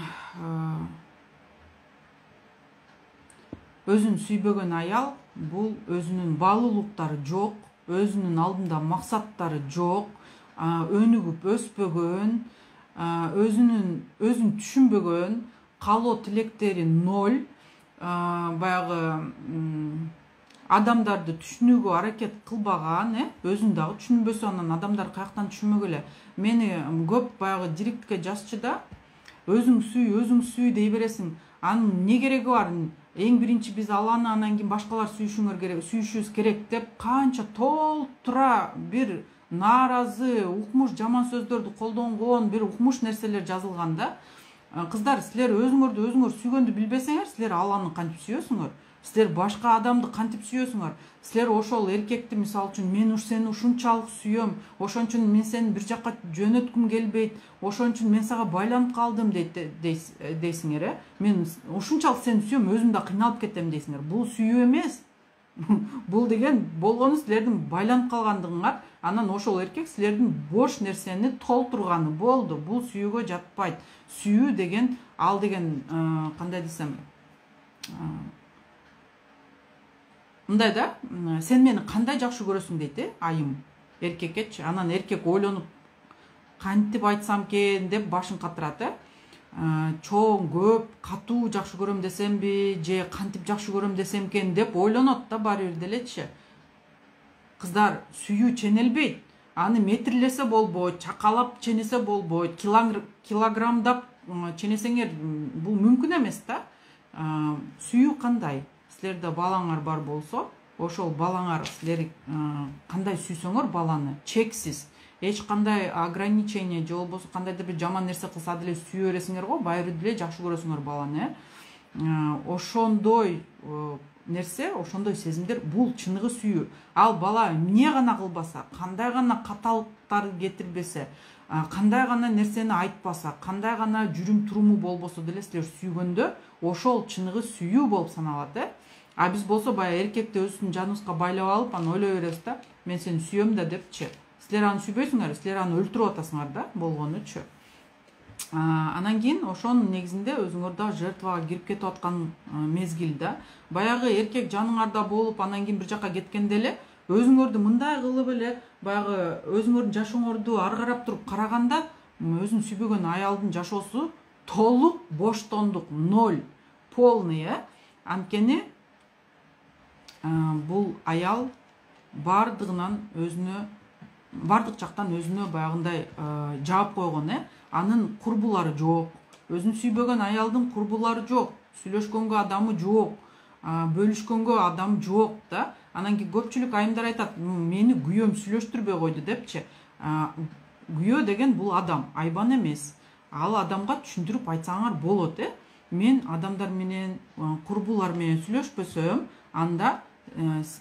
өзүн сүйбөгөн аял бул өзүнүн баалуулуктары жок, өзүнүн алдында максаттары жок, өнүгүп өспөгөн, өзүнүн өзүн түшүнбөгөн, каалоо тилектери ноль, баягы адамдарды түшүнүүгө аракет кылбаган, э өзүн дагы түшүнбөсө анан адамдар каяктан түшүнмөк эле. Мени көп баягы директке жазчы да, өзүң сүй, өзүң сүй дей бересиң. Анын не кереги бар? Эң биринчи биз Алланы, анан кийин башкалар сүйүшүңөр керек, сүйүшүбүз керек деп канча толтура бир нааразы, укмуш жаман сөздөрдү колдонгон бир укмуш нерселер жазылган да. Кыздар, силер өзүңөрдү өзүңөр сүйгөндү билбесеңер, силер Алланы кантип сүйөсүңөр? Силер башка адамды кантип сүйөсүңөр? Силер ошол эркекти мисалы үчүн мен уж сени ушунчалык сүйөм, ошон үчүн мен сени бир жакка жөнөткүм келбейт, ошон үчүн мен сага байланып калдым дейт дейсиңер, э? Мен ушунчалык сени сүйөм, өзүм да кыйналып кетем дейсиңер. Бул сүйүү эмес. Бул деген болгону силердин байланып калгандыгыңар, анан ошол эркек силердин бош нерсени толтурганы болду. Бул сүйүүгө жатпайт. Сүйүү деген, ал деген кандай десем, мындай да, сен мени кандай жакшы көрөсүң дейт, э, айым эркеккечи. Анан эркек ойлонуп, кантип айтсам экен деп башын катырат, э. Чоң, көп, катуу жакшы көрөм десемби, же кантип жакшы көрөм десем экен деп ойлонот да баары бир делечи. Кыздар, сүйүү ченелбейт. Аны метрлесе болбойт, чакалап ченесе болбойт, килограммдап ченесеңер бул мүмкүн эмес да. Сүйүү кандай? Силерде балаңар бар болсо, ошол балаңар силер кандай сүйсөңөр баланы, чексиз, эч кандай ограничение же болбосо кандайдыр бир жаман нерсе кылса деле сүйө бересиңер го, баары бир деле жакшы көрөсүңөр баланы. Ошондой нерсе, ошондой сезимдер бул чыныгы сүйүү. Ал бала эмне гана кылбаса, кандай гана каталыктар кетирбесе, кандай гана нерсени айтпаса, кандай гана жүрүм туруму болбосо деле силер сүйгөндө ошол чыныгы сүйүү болуп саналат, э. А биз болсо баягы эркекти өзүбүздүн жаныбызга байлап алып, анан ойлой беребиз да, мен сени сүйөм да депчи. Силер аны сүйбөйсүңөр, силер аны өлтүрүп атасыңар да, болгонучу. Анан кийин ошонун негизинде өзүңөр да жертвага кирип кетип аткан мезгил да. Баягы эркек жаныңарда болуп, анан кийин бир жакка кеткенде эле өзүңөрдү мындай кылып эле баягы өзүңөрдүн жашооңорду ары карап туруп караганда өзүн сүйбөгөн аялдын жашоосу толук боштондук, ноль, полный. э Анткени бул аял бардыгынан өзүнө бардык жактан өзүнө баягындай жаап койгон. э Анын курбулары жок, өзүн сүйбөгөн аялдын курбулары жок, сүйлөшкөнгө адамы жок, бөлүшкөнгө адам жок да. Анан кийин көпчүлүк айымдар айтат, мени күйөөм сүйлөштүрбөй койду депчи. Күйөө деген бул адам, айбан эмес. Ал адамга түшүндүрүп айтсаңар болот. э Мен адамдар менен, курбулар менен сүйлөшпөсөм, анда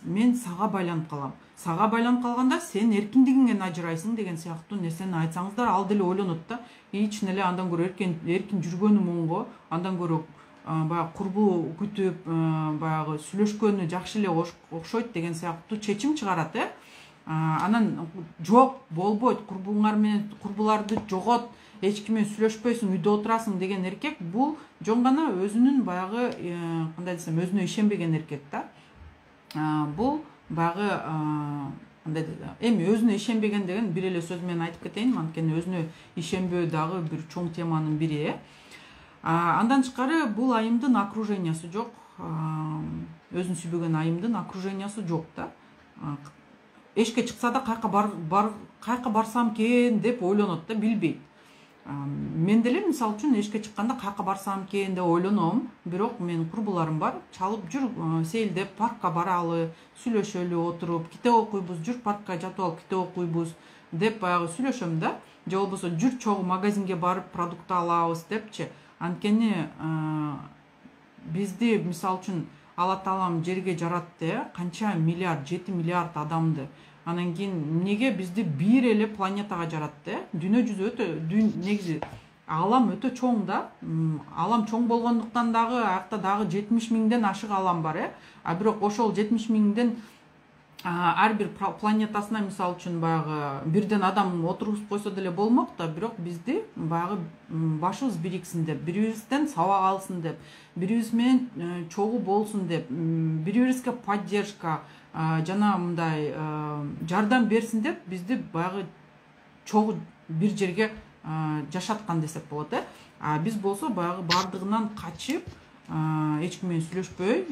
мен сага байланып калам. Сага байланып калганда сен эркиндигиңден ажырайсың деген сыяктуу нерсени айтсаңыздар, ал деле ойлонот да. Ичин эле андан көрө эркин эркин жүргөнүм оңго, андан көрө баягы курбу күтүп, баягы сүйлөшкөнү жакшы эле окшойт деген сыяктуу чечим чыгарат. э Анан жок, болбойт, курбуңар менен курбуларды жогот, эч ким менен сүйлөшпөйсүң, үйдө отурасың деген эркек бул жөн гана өзүнүн баягы кандай десем, өзүнө ишенбеген эркек да. Бул баягы кандай эми өзүнө ишенбеген деген бир эле сөз менен айтып кетейин, анткени өзүнө ишенбөө дагы бир чоң теманын бири. э Андан тышкары бул айымдын окружениясы жок, өзүн сүйбөгөн айымдын окружениясы жок да. Эшикке чыкса да кайка бар кайка барсам экен деп ойлонот да, билбейт. Мен деле мисалы үчүн эшикке чыкканда кайка барсам экен деп ойлоном, бирок менин курбуларым бар, чалып жүр, сейилдеп паркка баралы, сүйлөшөлү отуруп, китеп окуйбуз, жүр паркка жатып алып китеп окуйбуз деп баягы сүйлөшөм да. Же болбосо жүр чогуу магазинге барып продукт алабыз депчи. Анткени бизди мисалы үчүн Алла Таалам жерге жаратты, канча миллиард, жети миллиард адамды. Анан кийин эмнеге бизди бир эле планетага жаратты? Дүйнө жүзү өтө негизи алам өтө чоң да. Алам чоң болгондуктан дагы акта дагы жетимиш миңден ашык алам бар. э А бирок ошол жетимиш миңден ар бир планетасына мисалы үчүн баягы бирден адам отургузуп койсо деле болмок да, бирок бизди баягы башыбыз бириксин деп, бири-бирибизден сабак алсын деп, бири-бирибиз менен чогуу болсун деп, бири-бирибизге поддержка жана мындай жардам берсин деп бизди баягы чогуу бир жерге жашаткан десек болот. э А биз болсо баягы бардыгынан качып, эч ким менен сүйлөшпөй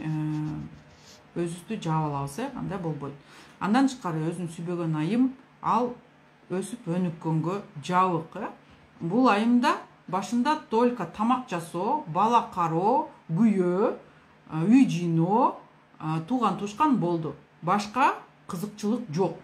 өзүбүздү жаап алабыз. э Андай болбойт. Андан тышкары өзүн сүйбөгөн айым ал өсүп өнүккөнгө жабык. э Бул айымда башында только тамак жасоо, бала кароо, күйөө, үй жыйноо, тууган тушкан болду. Башка кызыкчылык жок.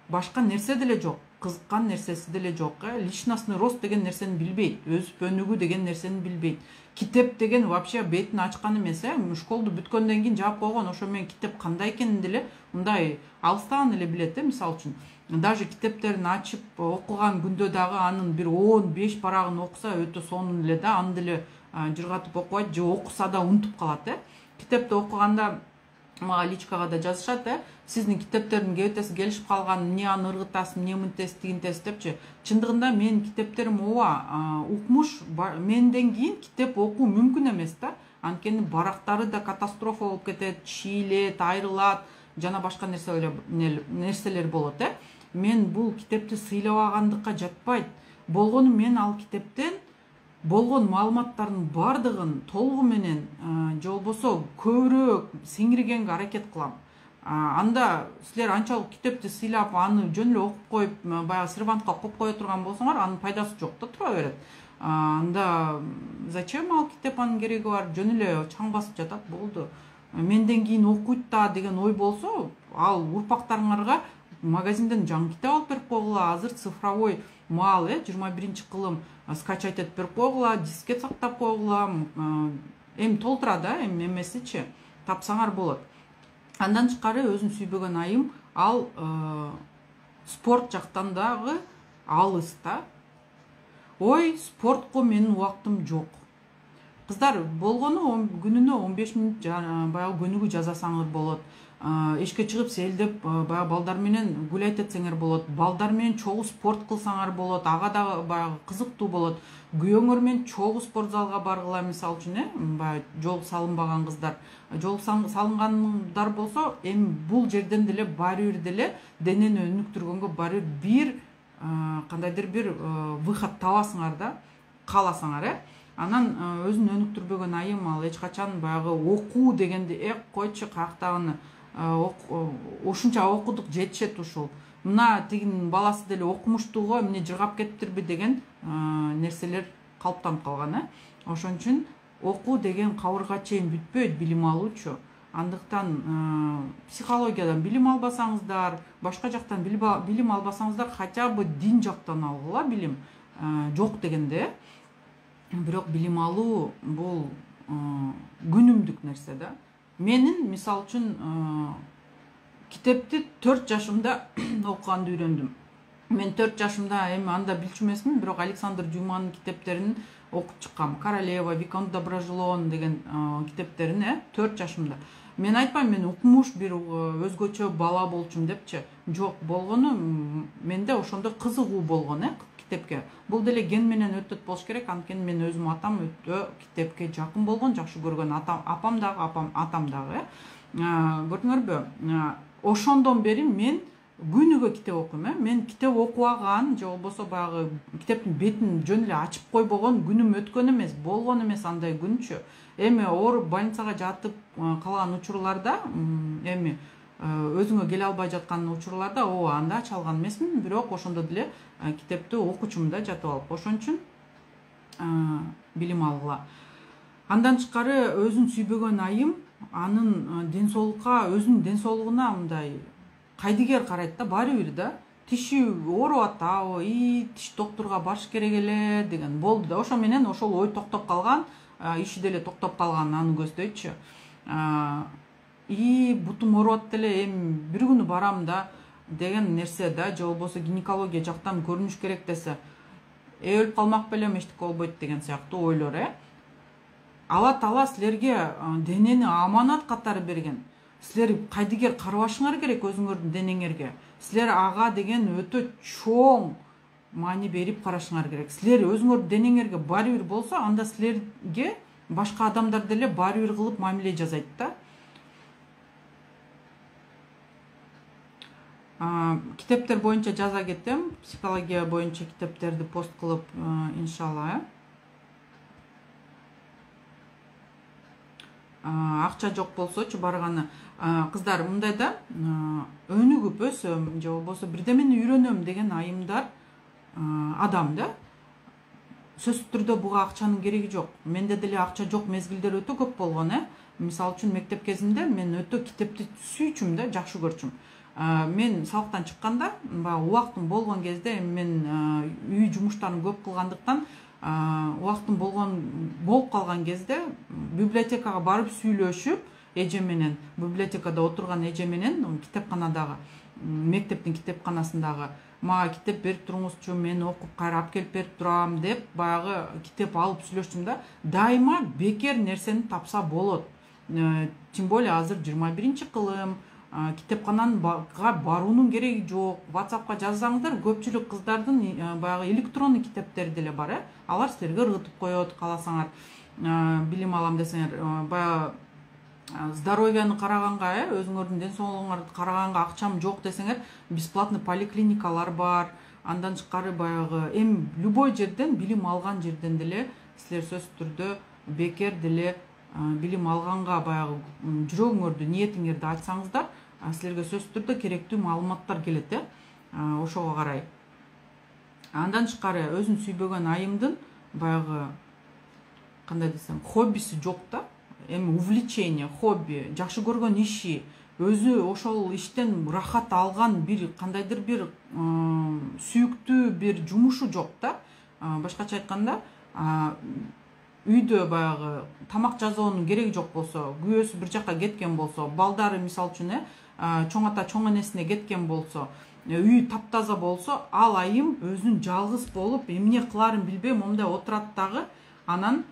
Башка нерсе деле жок. Кызыккан нерсеси деле жок. э Личностный рост деген нерсени билбейт. Өсүп өнүгүү деген нерсени билбейт. Китеп деген вообще бетин ачкан эмес. э Школду бүткөндөн кийин жаап койгон. Ошо менен китеп кандай экенин деле мындай алыстан эле билет. э Мисалы үчүн даже китептерин ачып окуган күндө дагы анын бир он беш барагын окуса өтө сонун эле да, аны деле жыргатып окубайт же окуса да унутуп калат. э Китепти окуганда мага личкага да жазышат, э сиздин китептердин кебетеси келишип калган, эмне аны ыргытасыз, эмне мынтесиз, тигинтесиз депчи. Чындыгында менин китептерим ооба, укмуш менден кийин китеп окуу мүмкүн эмес да. Анткени барактары да катастрофа болуп кетет, шийлет, айрылат, жана башка нерселер нерселер болот. э Мен бул китепти сыйлабагандыкка жатпайт. Болгону мен ал китептен болгон маалыматтардын бардыгын толугу менен же болбосо көбүрөөк сиңиргенге аракет кылам. Анда силер анчалык китепти сыйлап, аны жөн эле окуп коюп, баягы сервантка коюп кое турган болсоңор, анын пайдасы жок да, тура берет. Анда зачем ал китеп, анын кереги бар? Жөн эле чаң басып жатат, болду. Менден кийин окуйт да деген ой болсо, ал урпактарыңарга магазинден жаңы китеп алып берип койгула. Азыр цифровой маал, э жыйырма биринчи кылым скачать этип берип койгула, дискет сактап койгула. Эми толтура да, эми эмесичи тапсаңар болот. Андан тышкары өзүн сүйбөгөн айым ал спорт жактан дагы алыс да. Ой, спортко менин убактым жок. Кыздар, болгону күнүнө он беш мүнөт баягы көнүгүү жасасаңыз болот. эшикке чыгып селдеп баягы балдар менен гулять этсеңер болот, балдар менен чогуу спорт кылсаңар болот, ага да баягы кызыктуу болот. Күйөөңөр менен чогуу спорт залга баргыла, мисалы үчүн э баягы жол салынбаган кыздар, жол салынгандар болсо эми бул жерден деле баары бир деле денени өнүктүргөнгө баары бир кандайдыр бир выход табасыңар да, кааласаңар э. Анан өзүн өнүктүрбөгөн айым ал эч качан баягы окуу дегенди э койчу каяктагыны ушунча окудук жетишет ушул. Мына тигинин баласы деле окумуштууго эмне жыргап кетиптирби деген нерселер калыптанып калган э. Ошон үчүн окуу деген кабырга чейин бүтпөйт, билим алуучу. Андыктан психологиядан билим албасаңыздар, башка жактан билим албасаңыздар, хотя бы дин жактан алгыла билим. Жок дегенде, бирок билим алуу бул күнүмдүк нерсе да. Менин мисалы үчүн китепти төрт жашымда окуганды үйрөндүм. Мен төрт жашымда эми анда билчү эмесмин, бирок Александр Дюманын китептерин окуп чыккам. Королева, Виконт Доброжелон деген китептерин э төрт жашымда. Мен айтпайм мен укмуш бир өзгөчө бала болчумун депчи. Жок, болгону менде ошондо кызыгуу болгон э китепке. Бул деле ген менен өтөт болуш керек. Анткени мен өзүм атам өтө китепке жакын болгон, жакшы көргөн, атам апам дагы, апам атам дагы э. Көрдүңөрбү? Ошондон бери мен күнүгө китеп окуйм э. Мен китеп окубаган же болбосо баягы китептин бетин жөн эле ачып койбогон күнүм өткөн эмес, болгон эмес андай күнчү. Эми ооруп больницага жатып калган учурларда, эми өзүңө келе албай жаткан учурларда ооба анда ача алган эмесмин, бирок ошондо деле китепти окучумун да жатып алып. Ошон үчүн билим алгыла. Андан тышкары өзүн сүйбөгөн айым анын ден соолукка, өзүнүн ден соолугуна мындай кайдыгер карайт да, баары бир да. Тиши ооруп атабы, и тиш доктурга барыш керек эле деген болду да. Ошо менен ошол ой токтоп калган, иши деле токтоп калган аны көздөйчү. И бутум ооруп атты эле, эми бир күнү барам да деген нерсе да, же болбосо гинекология жактан көрүнүш керек десе, э өлүп калмак белем, эчтеке болбойт деген сыяктуу ойлор э. Алла Таала силерге денени аманат катары берген. Силер кайдыгер карабашыңар керек өзүңөрдүн денеңерге. Силер ага деген өтө чоң маани берип карашыңар керек. Силер өзүңөрдүн денеңерге баары бир болсо, анда силерге башка адамдар деле баары бир кылып мамиле жасайт да. Китептер боюнча жаза кетем. Психология боюнча китептерди пост кылып, иншалла. Акча жок болсочу барганы. Кыздар, мындай да, өнүгүп өсөм же болбосо бирдемени үйрөнөм деген айымдар адам да. Сөзсүз түрдө буга акчанын кереги жок. Менде деле акча жок мезгилдер өтө көп болгон э. Мисалы үчүн мектеп кезинде мен өтө китепти сүйчүм да, жакшы көрчүм. Мен сабактан чыкканда, баягы убактым болгон кезде, мен үй жумуштарын көп кылгандыктан убактым болгон болуп калган кезде библиотекага барып сүйлөшүп, эже менен, библиотекада отурган эже менен, китепканадагы, мектептин китепканасындагы, мага китеп берип туруңузчу, мен окуп кайра алып келип берип турам деп, баягы китеп алып сүйлөштүм да. Дайыма бекер нерсени тапса болот. Тем более азыр жыйырма биринчи кылым, китепканага баруунун кереги жок. WhatsAppка жазсаңыздар, көпчүлүк кыздардын баягы электрондук китептери деле бар э. Алар силерге ыргытып коет, кааласаңар билим алам десеңер. Баягы здоровьяны караганга, э, өзүңөрдүн ден соолугуңарды караганга акчам жок десеңер, бесплатный поликлиникалар бар. Андан тышкары баягы эми любой жерден, билим алган жерден деле силер сөзсүз түрдө бекер деле билим алганга баягы жүрөгүңөрдү, ниетиңерди айтсаңыздар, силерге сөзсүз түрдө керектүү маалыматтар келет э. Ошого карай. Андан тышкары өзүн сүйбөгөн айымдын баягы кандай десем, хоббиси жок да. Эми увлечение, хобби, жакшы көргөн иши, өзү ошол иштен рахат алган бир кандайдыр бир сүйүктүү бир жумушу жок да. Башкача айтканда, үйдө баягы тамак жасоонун кереги жок болсо, күйөөсү бир жакка кеткен болсо, балдары мисалы үчүн э чоң ата чоң энесине кеткен болсо, үй таптаза болсо, ал айым өзүн жалгыз болуп, эмне кыларын билбей момундай отурат дагы, анан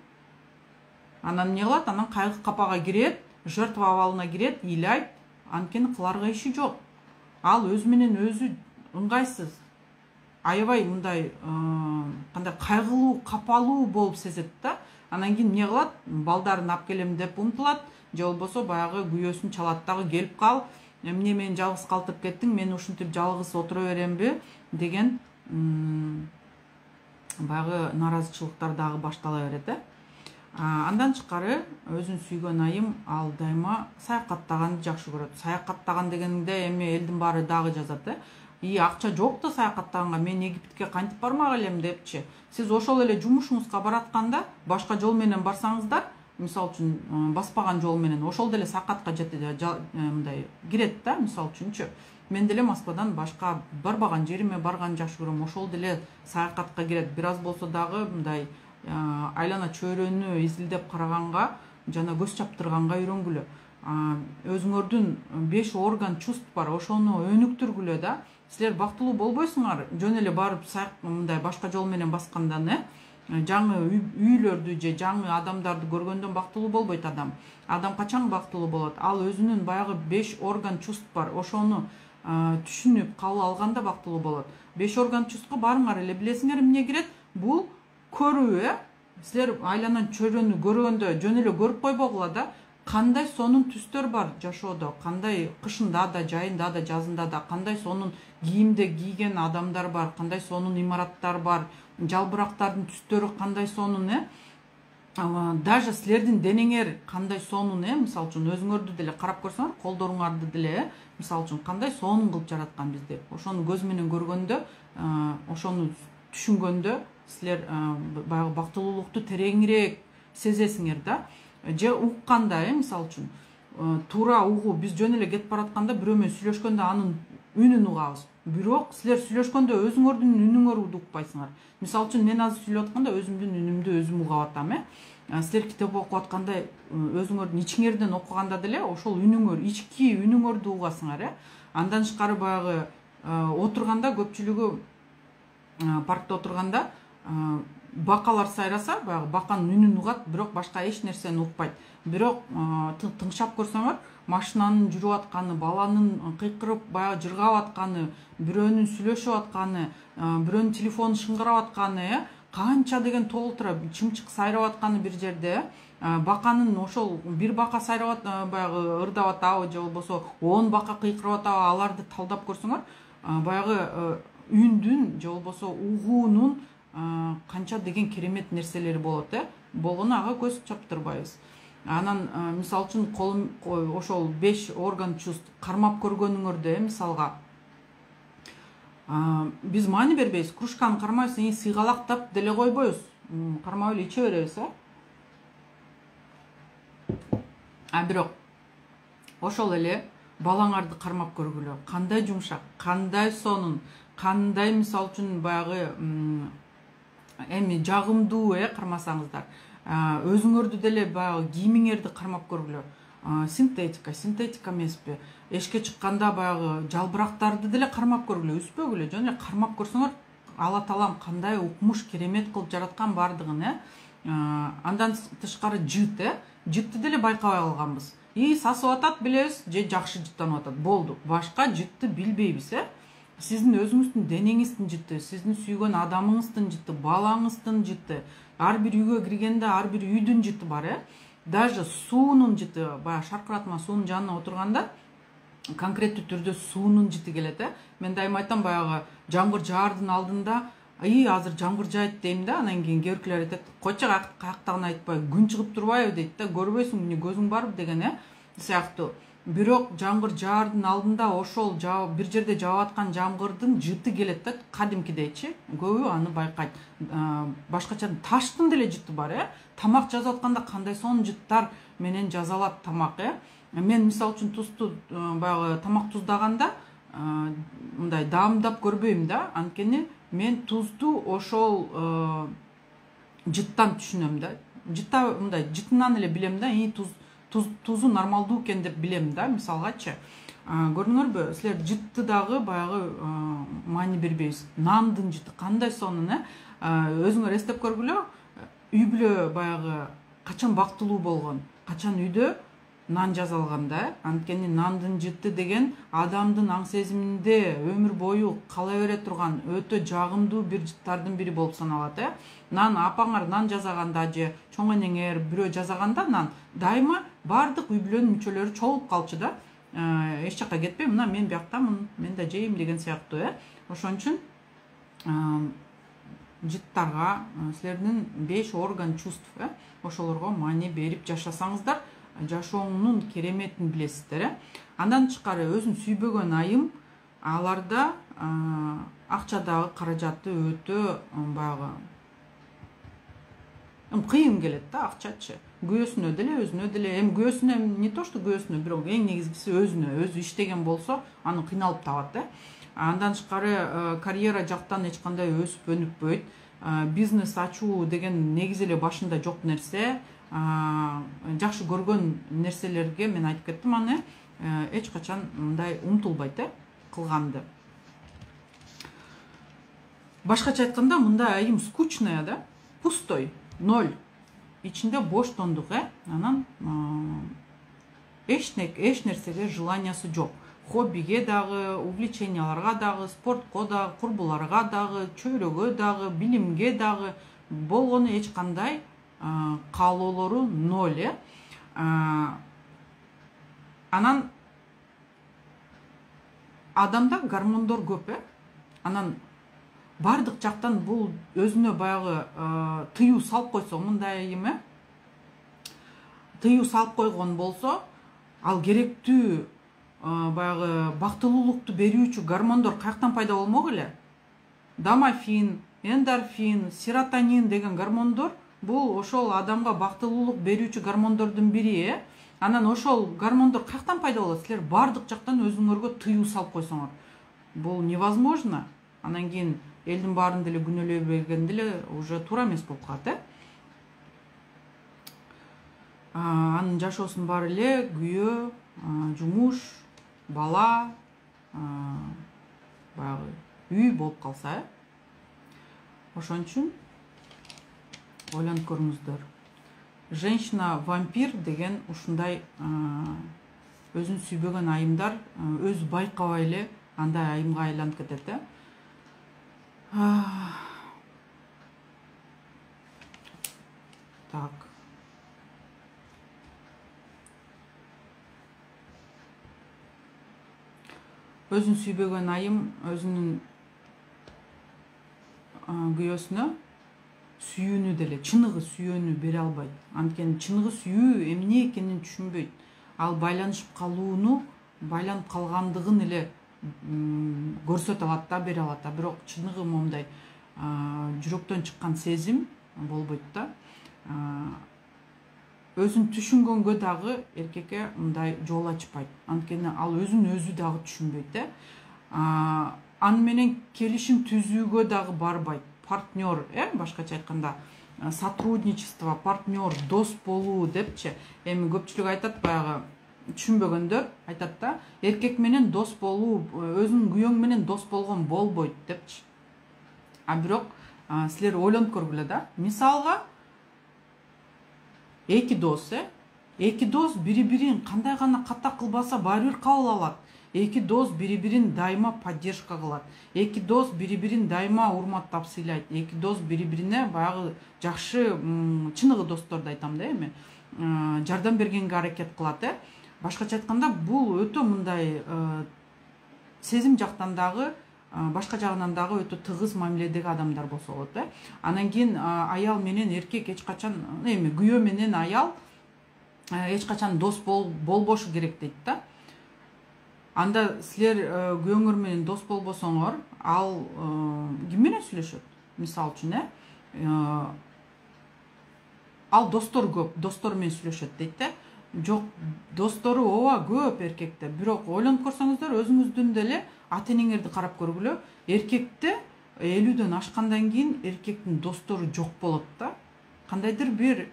анан эмне кылат? Анан кайгы капага кирет, жертва абалына кирет, ыйлайт, анткени кыларга иши жок. Ал өзү менен өзү ыңгайсыз, аябай мындай кандай кайгылуу, капалуу болуп сезет да. Анан кийин эмне кылат? Балдарын алып келем деп умтулат, же болбосо баягы күйөөсүн чалат дагы, келип кал, эмне мени жалгыз калтырып кеттиң, мен ушинтип жалгыз отура беремби деген баягы нааразычылыктар дагы баштала берет э. Андан тышкары өзүн сүйгөн айым ал дайыма саякаттаганды жакшы көрөт. Саякаттаган дегенде эми элдин баары дагы жазат э. И акча жок да саякаттаганга, мен Египетке кантип бармак элем депчи. Сиз ошол эле жумушуңузга баратканда башка жол менен барсаңыздар, мисалы үчүн баспаган жол менен ошол деле саякатка мындай кирет да, мисалы үчүнчү. Мен деле Москвадан башка барбаган жериме барганды жакшы көрөм, ошол деле саякатка кирет. Бир аз болсо дагы мындай айлана чөйрөнү изилдеп караганга жана көз чаптырганга үйрөнгүлө. Өзүңөрдүн беш орган чувств бар, ошону өнүктүргүлө да. Силер бактылуу болбойсуңар, жөн эле барып мындай башка жол менен баскандан э. Жаңы үйлөрдү же жаңы адамдарды көргөндөн бактылуу болбойт адам. Адам качан бактылуу болот? Ал өзүнүн баягы беш орган чувств бар, ошону түшүнүп кабыл алганда бактылуу болот. Беш орган чувствга баарыңар эле билесиңер эмне кирет? Бул көрүү э. Силер айланан чөйрөнү көргөндө жөн эле көрүп койбогула да, кандай сонун түстөр бар жашоодо, кандай кышында да, жайында да, жазында да, кандай сонун кийимде кийген адамдар бар, кандай сонун имараттар бар, жалбырактардын түстөрү кандай сонун э. Даже силердин денеңер кандай сонун э. Мисалы үчүн өзүңөрдү деле карап көрсөңөр, колдоруңарды деле э. Мисалы үчүн кандай сонун кылып жараткан бизди. Ошону көз менен көргөндө, ошону түшүнгөндө силер баягы бактылуулукту тереңирээк сезесиңер да. Же укканда э, мисалы үчүн туура угуу, биз жөн эле кетип баратканда бирөө менен сүйлөшкөндө анын үнүн угабыз. Бирок силер сүйлөшкөндө өзүңөрдүн үнүңөрдү укпайсыңар. Мисалы үчүн мен азыр сүйлөп атканда өзүмдүн үнүмдү өзүм угап атам э. Силер китеп окуп атканда өзүңөрдүн ичиңерден окуганда деле ошол үнүңөр, ички үнүңөрдү угасыңар э. Андан тышкары баягы отурганда көпчүлүгү паркта отурганда бакалар сайраса, баягы баканын үнүн угат, бирок башка эч нерсени укпайт. Бирок тыңшап көрсөңөр, машинанын жүрүп атканы, баланын кыйкырып баягы жыргап атканы, бирөөнүн сүйлөшүп атканы, бирөөнүн телефону шыңгырап атканы э, канча деген толтура чымчык сайрап атканы бир жерде э. Баканын ошол бир бака сайрап баягы ырдап атабы же болбосо он бака кыйкырып атабы, аларды талдап көрсөңөр, баягы үндүн же болбосо угуунун канча деген керемет нерселери болот э. Болгону ага көз чаптырбайбыз. Анан мисалы үчүн колум ошол беш орган чувств кармап көргөнүңөрдө э, мисалга биз маани бербейбиз, кружканы кармайбыз, и сыйгалактап деле койбойбуз, кармап эле иче беребиз э. А бирок ошол эле балаңарды кармап көргүлө. Кандай жумшак, кандай сонун, кандай мисалы үчүн баягы эми жагымдуу э, кармасаңыздар. Өзүңөрдү деле баягы кийимиңерди кармап көргүлө. Синтетика, синтетика эмеспи? Эшикке чыкканда баягы жалбырактарды деле кармап көргүлө, үспөгүлө, жөн эле кармап көрсөңөр, Алла таалам кандай укмуш, керемет кылып жараткан бардыгын э. Андан тышкары жыт э, жытты деле байкабай калганбыз. И сасып атат билебиз, же жакшы жыттанып атат, болду. Башка жытты билбейбиз э. Сиздин өзүңүздүн денеңиздин жыты, сиздин сүйгөн адамыңыздын жыты, балаңыздын жыты, ар бир үйгө киргенде ар бир үйдүн жыты бар э. Даже суунун жыты, баягы шаркыратма суунун жанына отурганда конкреттүү түрдө суунун жыты келет э. Мен дайыма айтам, баягы жамгыр жаардын алдында, "Ай, азыр жамгыр жайт" дейм да, анан кийин кээбиркилер айтат, "Койчу, каяктагын айтпай, күн чыгып турбайбы" дейт да, "Көрбөйсүң, эмне көзүң барбы" деген э. Сыяктуу. Бирок жамгыр жаардын алдында ошол бир жерде жаап аткан жамгырдын жыты келет да, кадимкидейчи. Көбү аны байкайт. Башкача таштын деле жыты бар э. Тамак жазып атканда кандай сонун жыттар менен жазалат тамак э. Мен мисалы үчүн тузду баягы тамак туздаганда мындай даамдап көрбөйм да, анткени мен тузду ошол жыттан түшүнөм да. Жытта мындай жытынан эле билем да, и туз тузу нормалдуу экен деп билем да, мисалгачы. Көрдүңөрбү, силер жытты дагы баягы маани бербейбиз. Нандын жыты кандай сонун э. Өзүңөр эстеп көргүлө, үй бүлө баягы качан бактылуу болгон, качан үйдө нан жасалганда. Анткени нандын жыты деген адамдын аң сезиминде өмүр бою кала бере турган өтө жагымдуу бир жыттардын бири болуп саналат. э Нан апаңар нан жасаганда же чоң энеңер бирөө жасаганда нан дайыма баардык үй бүлөнүн мүчөлөрү чогулуп калчу да. Эч жакка кетпей, мына мен бияктамын, мен да жейм деген сыяктуу. э Ошон үчүн жыттарга силердин беш орган чувств э ошолорго маани берип жашасаңыздар, жашооңдун кереметин билесиздер. э Андан тышкары өзүн сүйбөгөн айым аларда акчадагы каражаты өтө баягы кыйын келет да. Акчачы күйөөсүнө деле өзүнө деле, эми күйөөсүнө не то что күйөөсүнө, бирок эң негизгиси өзүнө өзү иштеген болсо аны кыйналып табат. э Андан тышкары карьера жактан эч кандай өсүп өнүкпөйт. Бизнес ачуу деген негизи эле башында жок нерсе. Жакшы көргөн нерселерге мен айтып кеттим, аны эч качан мындай умтулбайт э кылганды. Башкача айтканда, мындай айым скучная да, пустой, ноль. Ичинде боштондук. э Анан эч нерсеге желаниясы жок. Хоббиге дагы, увлеченияларга дагы, спортко дагы, курбуларга дагы, чөйрөгө дагы, билимге дагы болгону эч кандай каалоолору ноль. э Анан адамда гормондор көп. э Анан бардык жактан бул өзүнө баягы тыюу салып койсо, мындай айым э тыюу салып койгон болсо, ал керектүү баягы бактылуулукту берүүчү гормондор каяктан пайда болмок эле? Домофин, эндорфин, серотонин деген гормондор бул ошол адамга бактылуулук берүүчү гормондордун бири. э Анан ошол гормондор каяктан пайда болот? Силер бардык жактан өзүңөргө тыюу салып койсоңор, бул невозможно. Анан кийин элдин баарын деле күнөөлөй бергенде деле уже туура эмес болуп калат. э Анын жашоосунун баары эле күйөө, жумуш, бала, баягы үй болуп калса. э Ошон үчүн ойлонуп көрүңүздөр. Женщина-вампир деген ушундай өзүн сүйбөгөн айымдар өзү байкабай эле андай айымга айланып кетет. э Так. Өзүн сүйбөгөн айым өзүнүн күйөөсүнө сүйүүнү деле, чыныгы сүйүүнү бере албайт. Анткени чыныгы сүйүү эмне экенин түшүнбөйт. Ал байланышып калууну, байланып калгандыгын эле көрсөтө алат да, бере алат да. Бирок чыныгы момундай жүрөктөн чыккан сезим болбойт да. Өзүн түшүнгөнгө дагы эркекке мындай жол ачпайт. Анткени ал өзүн өзү дагы түшүнбөйт. э Аны менен келишим түзүүгө дагы барбайт. Партнер, э башкача айтканда, сотрудничество, партнер, дос болуу депчи. Эми көпчүлүк айтат, баягы түшүнбөгөндөр айтат да, эркек менен дос болуу, өзүнүн күйөөң менен дос болгон болбойт депчи. А бирок силер ойлонуп көргүлө да. Мисалга эки дос, э эки дос бири-бирин кандай гана ката кылбаса баары бир кабыл алат. Эки дос бири-бирин дайыма поддержка кылат. Эки дос бири-бирин дайыма урматтап сыйлайт. Эки дос бири-бирине баягы жакшы, чыныгы досторду айтам да эми, жардам бергенге аракет кылат. э Башкача айтканда, бул өтө мындай сезим жактан дагы, башка жагынан дагы өтө тыгыз мамиледеги адамдар болсо болот. э Анан кийин аял менен эркек эч качан, эми күйөө менен аял эч качан дос болбошу керек дейт да. Анда силер күйөөңөр менен дос болбосоңор, ал ким менен сүйлөшөт? Мисалы үчүн, э ал достор көп, достор менен сүйлөшөт дейт да. Жок, достору ооба көп эркекте, бирок ойлонуп көрсөңүздөр, өзүңүздүн деле ата энеңерди карап көргүлө. Эркекте элүүдөн ашкандан кийин эркектин достору жок болот да. Кандайдыр бир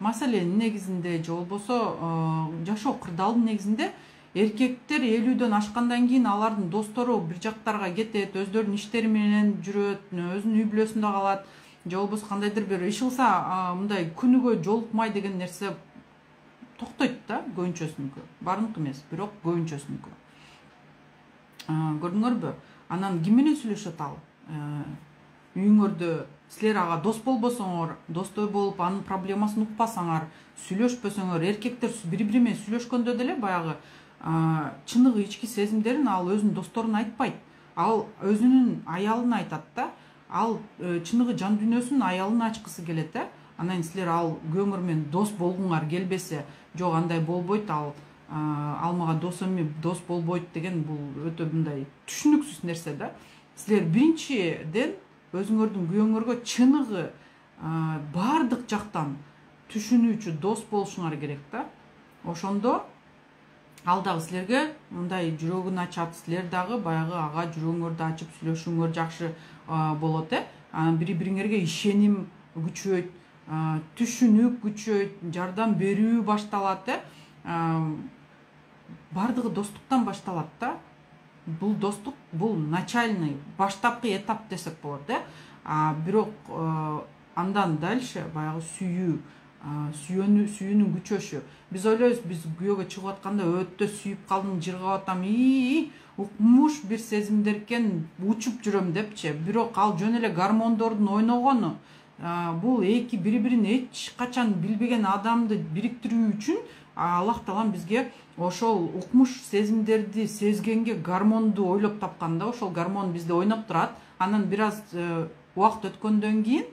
маселенин негизинде же болбосо жашоо кырдаалдын негизинде эркектер элүүдөн ашкандан кийин алардын достору бир жактарга кетет, өздөрүнүн иштери менен жүрөт, өзүнүн үй бүлөсүндө калат, же болбосо кандайдыр бир иш кылса мындай күнүгө жолукмай деген нерсе токтойт да, көбүнчөсүнүкү, баарыныкы эмес, бирок көбүнчөсүнүкү. Көрдүңөрбү? Анан ким менен сүйлөшөт ал? Үйүңөрдө силер ага дос болбосоңор, достой болуп анын проблемасын укпасаңар, сүйлөшпөсөңөр, эркектер бири бири менен сүйлөшкөндө деле баягы чыныгы ички сезимдерин ал өзүнүн досторуна айтпайт. Ал өзүнүн аялына айтат да. Ал чыныгы жан дүйнөсүн аялына ачкысы келет да. Анан силер ал күйөөңөр менен дос болгуңар келбесе, жок андай болбойт, ал ал мага дос эми дос болбойт деген бул өтө мындай түшүнүксүз нерсе да. Силер биринчиден өзүңөрдүн күйөөңөргө чыныгы баардык жактан түшүнүүчү дос болушуңар керек да. Ошондо ал дагы силерге мындай жүрөгүн ачат, силер дагы баягы ага жүрөгүңөрдү ачып сүйлөшүүңөр жакшы болот э. Бири бириңерге ишеним күчөйт, түшүнүк күчөйт, жардам берүү башталат э. Бардыгы достуктан башталат да. Бул достук, бул начальный, баштапкы этап десек болот э. Бирок андан дальше баягы сүйүү, сүйөнүү, сүйүүнүн күчөшү. Биз ойлойбуз, биз күйөөгө чыгып атканда өтө сүйүп калдым, жыргап атам, ии, укмуш бир сезимдер экен, учуп жүрөм депчи. Бирок ал жөн эле гормондордун ойногону. Бул эки бири-бирин эч качан билбеген адамды бириктирүү үчүн Аллах Таалам бизге ошол укмуш сезимдерди сезгенге гормонду ойлоп тапкан да. Ошол гормон бизде ойноп турат. Анан бир аз убакыт өткөндөн кийин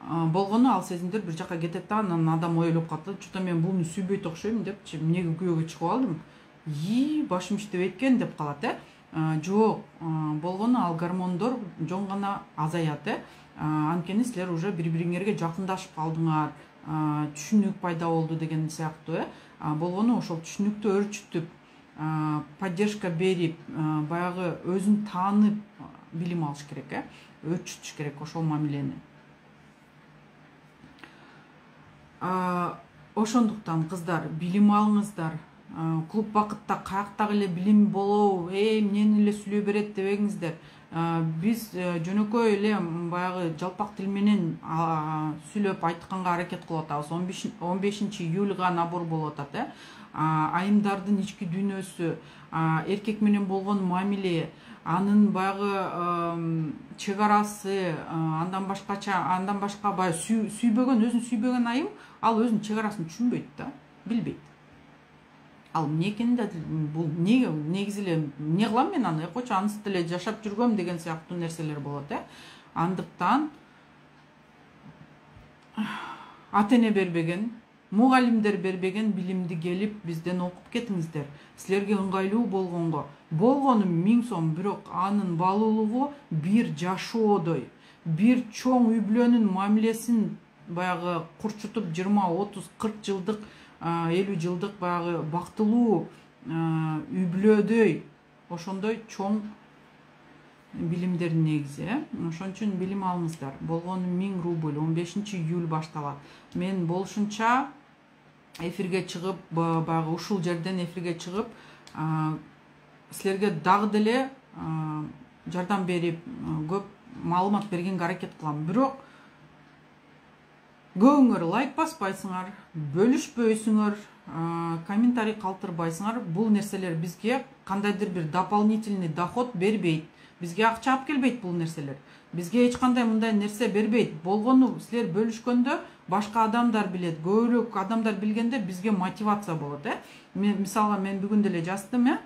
болгону ал сезимдер бир жакка кетет да. Анан адам ойлоп калат, чото мен буну сүйбөйт окшойм депчи, эмнеге күйөөгө чыгып алдым, ии башым иштебейт экен деп калат э. Жок, болгону ал гормондор жон гана азаят э. Анткени силер уже бири-бириңерге жакындашып калдыңар, түшүнүк пайда болду деген сыяктуу э. Болгону ошол түшүнүктү өрчүтүп, поддержка берип, баягы өзүн таанып билим алыш керек э. Өрчүтүш керек ошол мамилени. Ошондуктан кыздар, билим алыңыздар. Клуб бакытта каяктагы эле билим болобу, эй, эмнени эле сүйлөй берет дебеңиздер. Биз жөнөкөй эле баягы жалпак тил менен сүйлөп айтканга аракет кылып атабыз. он бешинчи июлга набор болуп атат э. Айымдардын ички дүйнөсү, эркек менен болгон мамиле, анын баягы чек арасы, андан башкача, андан башка баягы сүйбөгөн, өзүн сүйбөгөн айым ал өзүнүн чек арасын түшүнбөйт да, билбейт. Ал эмне экенин да, бул эмне, негизи эле эмне кылам мен аны, койчу ансыз деле жашап жүргөм деген сыяктуу нерселер болот э. Андыктан ата эне бербеген, мугалимдер бербеген билимди келип бизден окуп кетиңиздер. Силерге ыңгайлуу болгонго, болгону миң сом, бирок анын баалуулугу бир жашоодой, бир чоң үй бүлөнүн мамилесин баягы курчутуп жыйырма, отуз, кырк жылдык, элүү жылдык баягы бактылуу үй бүлөдөй ошондой чоң билимдердин негизи э. Ошон үчүн билим алыңыздар. Болгону миң рубль, он бешинчи июль башталат. Мен болушунча эфирге чыгып, баягы ушул жерден эфирге чыгып, силерге дагы деле жардам берип, көп маалымат бергенге аракет кылам. Бирок көбүңөр лайк баспайсыңар, бөлүшпөйсүңөр, комментарий калтырбайсыңар. Бул нерселер бизге кандайдыр бир дополнительный доход бербейт. Бизге акча алып келбейт бул нерселер. Бизге эч кандай мындай нерсе бербейт. Болгону силер бөлүшкөндө башка адамдар билет, көбүрөөк адамдар билгенде бизге мотивация болот э. Мен мисалга мен бүгүн деле жаздым э.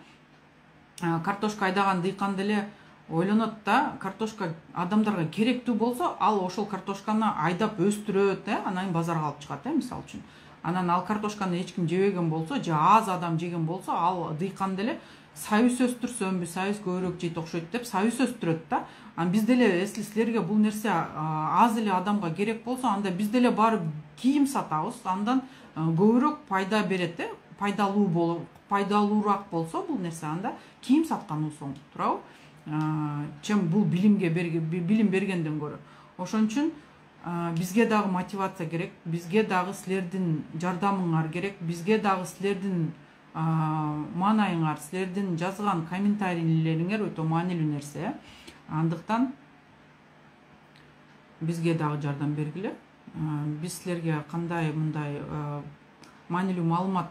Картошка айдаган дыйкан деле ойлонот да, картошка адамдарга керектүү болсо, ал ошол картошканы айдап өстүрөт э, анан базарга алып чыгат э, мисалы үчүн. Анан ал картошканы эч ким жебеген болсо, же аз адам жеген болсо, ал дыйкан деле союз өстүрсөмбү, союз көбүрөөк жейт окшойт деп союз өстүрөт да. Анан биз деле, если силерге бул нерсе аз эле адамга керек болсо, анда биз деле барып кийим сатабыз, андан көбүрөөк пайда берет э, пайдалуу болуп, пайдалуураак болсо бул нерсе, анда кийим сатканыбыз оң турабы? Чем бул билимге билим бергенден көрө. Ошон үчүн бизге дагы мотивация керек, бизге дагы силердин жардамыңар керек, бизге дагы силердин маанайыңар, силердин жазган комментарийлериңер өтө маанилүү нерсе. Андыктан бизге дагы жардам бергиле. биз силерге кандай мындай маанилүү маалымат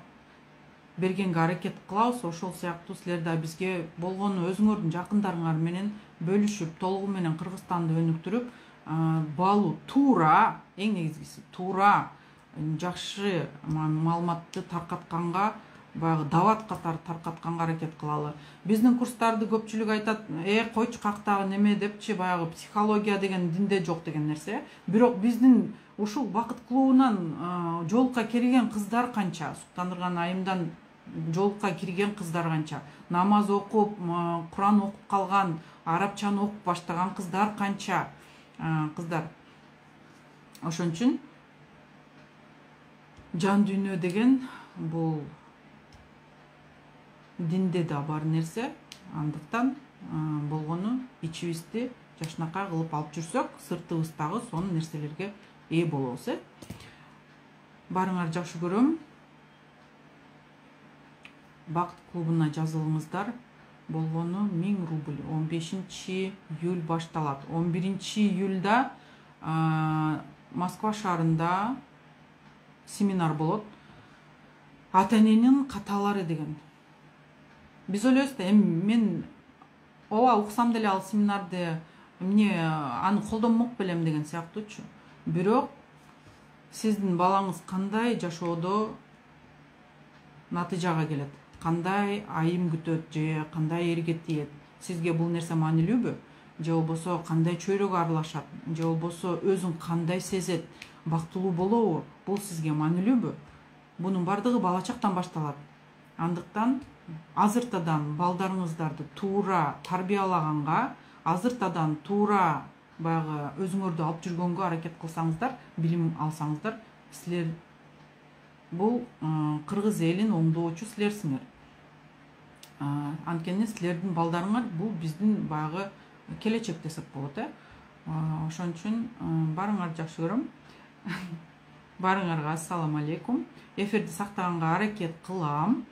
бергенге аракет кылабыз, ошол сыяктуу силер да бизге болгону өзүңөрдүн жакындарыңар менен бөлүшүп, толугу менен Кыргызстанды өнүктүрүп, баалуу, туура, эң негизгиси туура, жакшы маалыматты таркатканга, баягы дават катары таркатканга аракет кылалы. Биздин курстарды көпчүлүк айтат, э койчу кактагы неме депчи, баягы психология деген динде жок деген нерсе. Бирок биздин ушул бакыт клубунан жолукка кирген кыздар канча, Суктандырган айымдан жолукка кирген кыздар канча, намаз окуп, Куран окуп калган, арабчаны окуп баштаган кыздар канча кыздар. Ошон үчүн жан дүйнө деген бул динде да бар нерсе. Андыктан болгону ичибизди жашынакай кылып алып жүрсөк, сыртыбыз дагы сонун нерселерге ээ болобуз. Э баарыңарды жакшы көрөм. Бакыт клубуна жазылыңыздар. Болгону миң рубль. он бешинчи июль башталат. он биринчи июльда Москва шаарында семинар болот. Ата эненин каталары деген. Биз ойлойбуз да, эми мен ооба уксам деле ал семинарды эмне аны колдонмок белем деген сыяктуучу. Бирок сиздин балаңыз кандай жашоодо натыйжага келет, кандай айым күтөт же кандай эрге тиет, сизге бул нерсе маанилүүбү? Же болбосо кандай чөйрөгө аралашат, же болбосо өзүн кандай сезет, бактылуу болобу? Бул сизге маанилүүбү? Бунун бардыгы бала чактан башталат. Андыктан азыртадан балдарыңыздарды туура тарбиялаганга, азыртадан туура баягы өзүңөрдү алып жүргөнгө аракет кылсаңыздар, билим алсаңыздар, силер бул кыргыз элин оңдоочу силерсиңер. Анткени силердин балдарыңар бул биздин баягы келечек десек болот. Э ошон үчүн баарыңарды жакшы көрөм. Баарыңарга ассаламу алейкум. Эфирди сактаганга аракет кылам.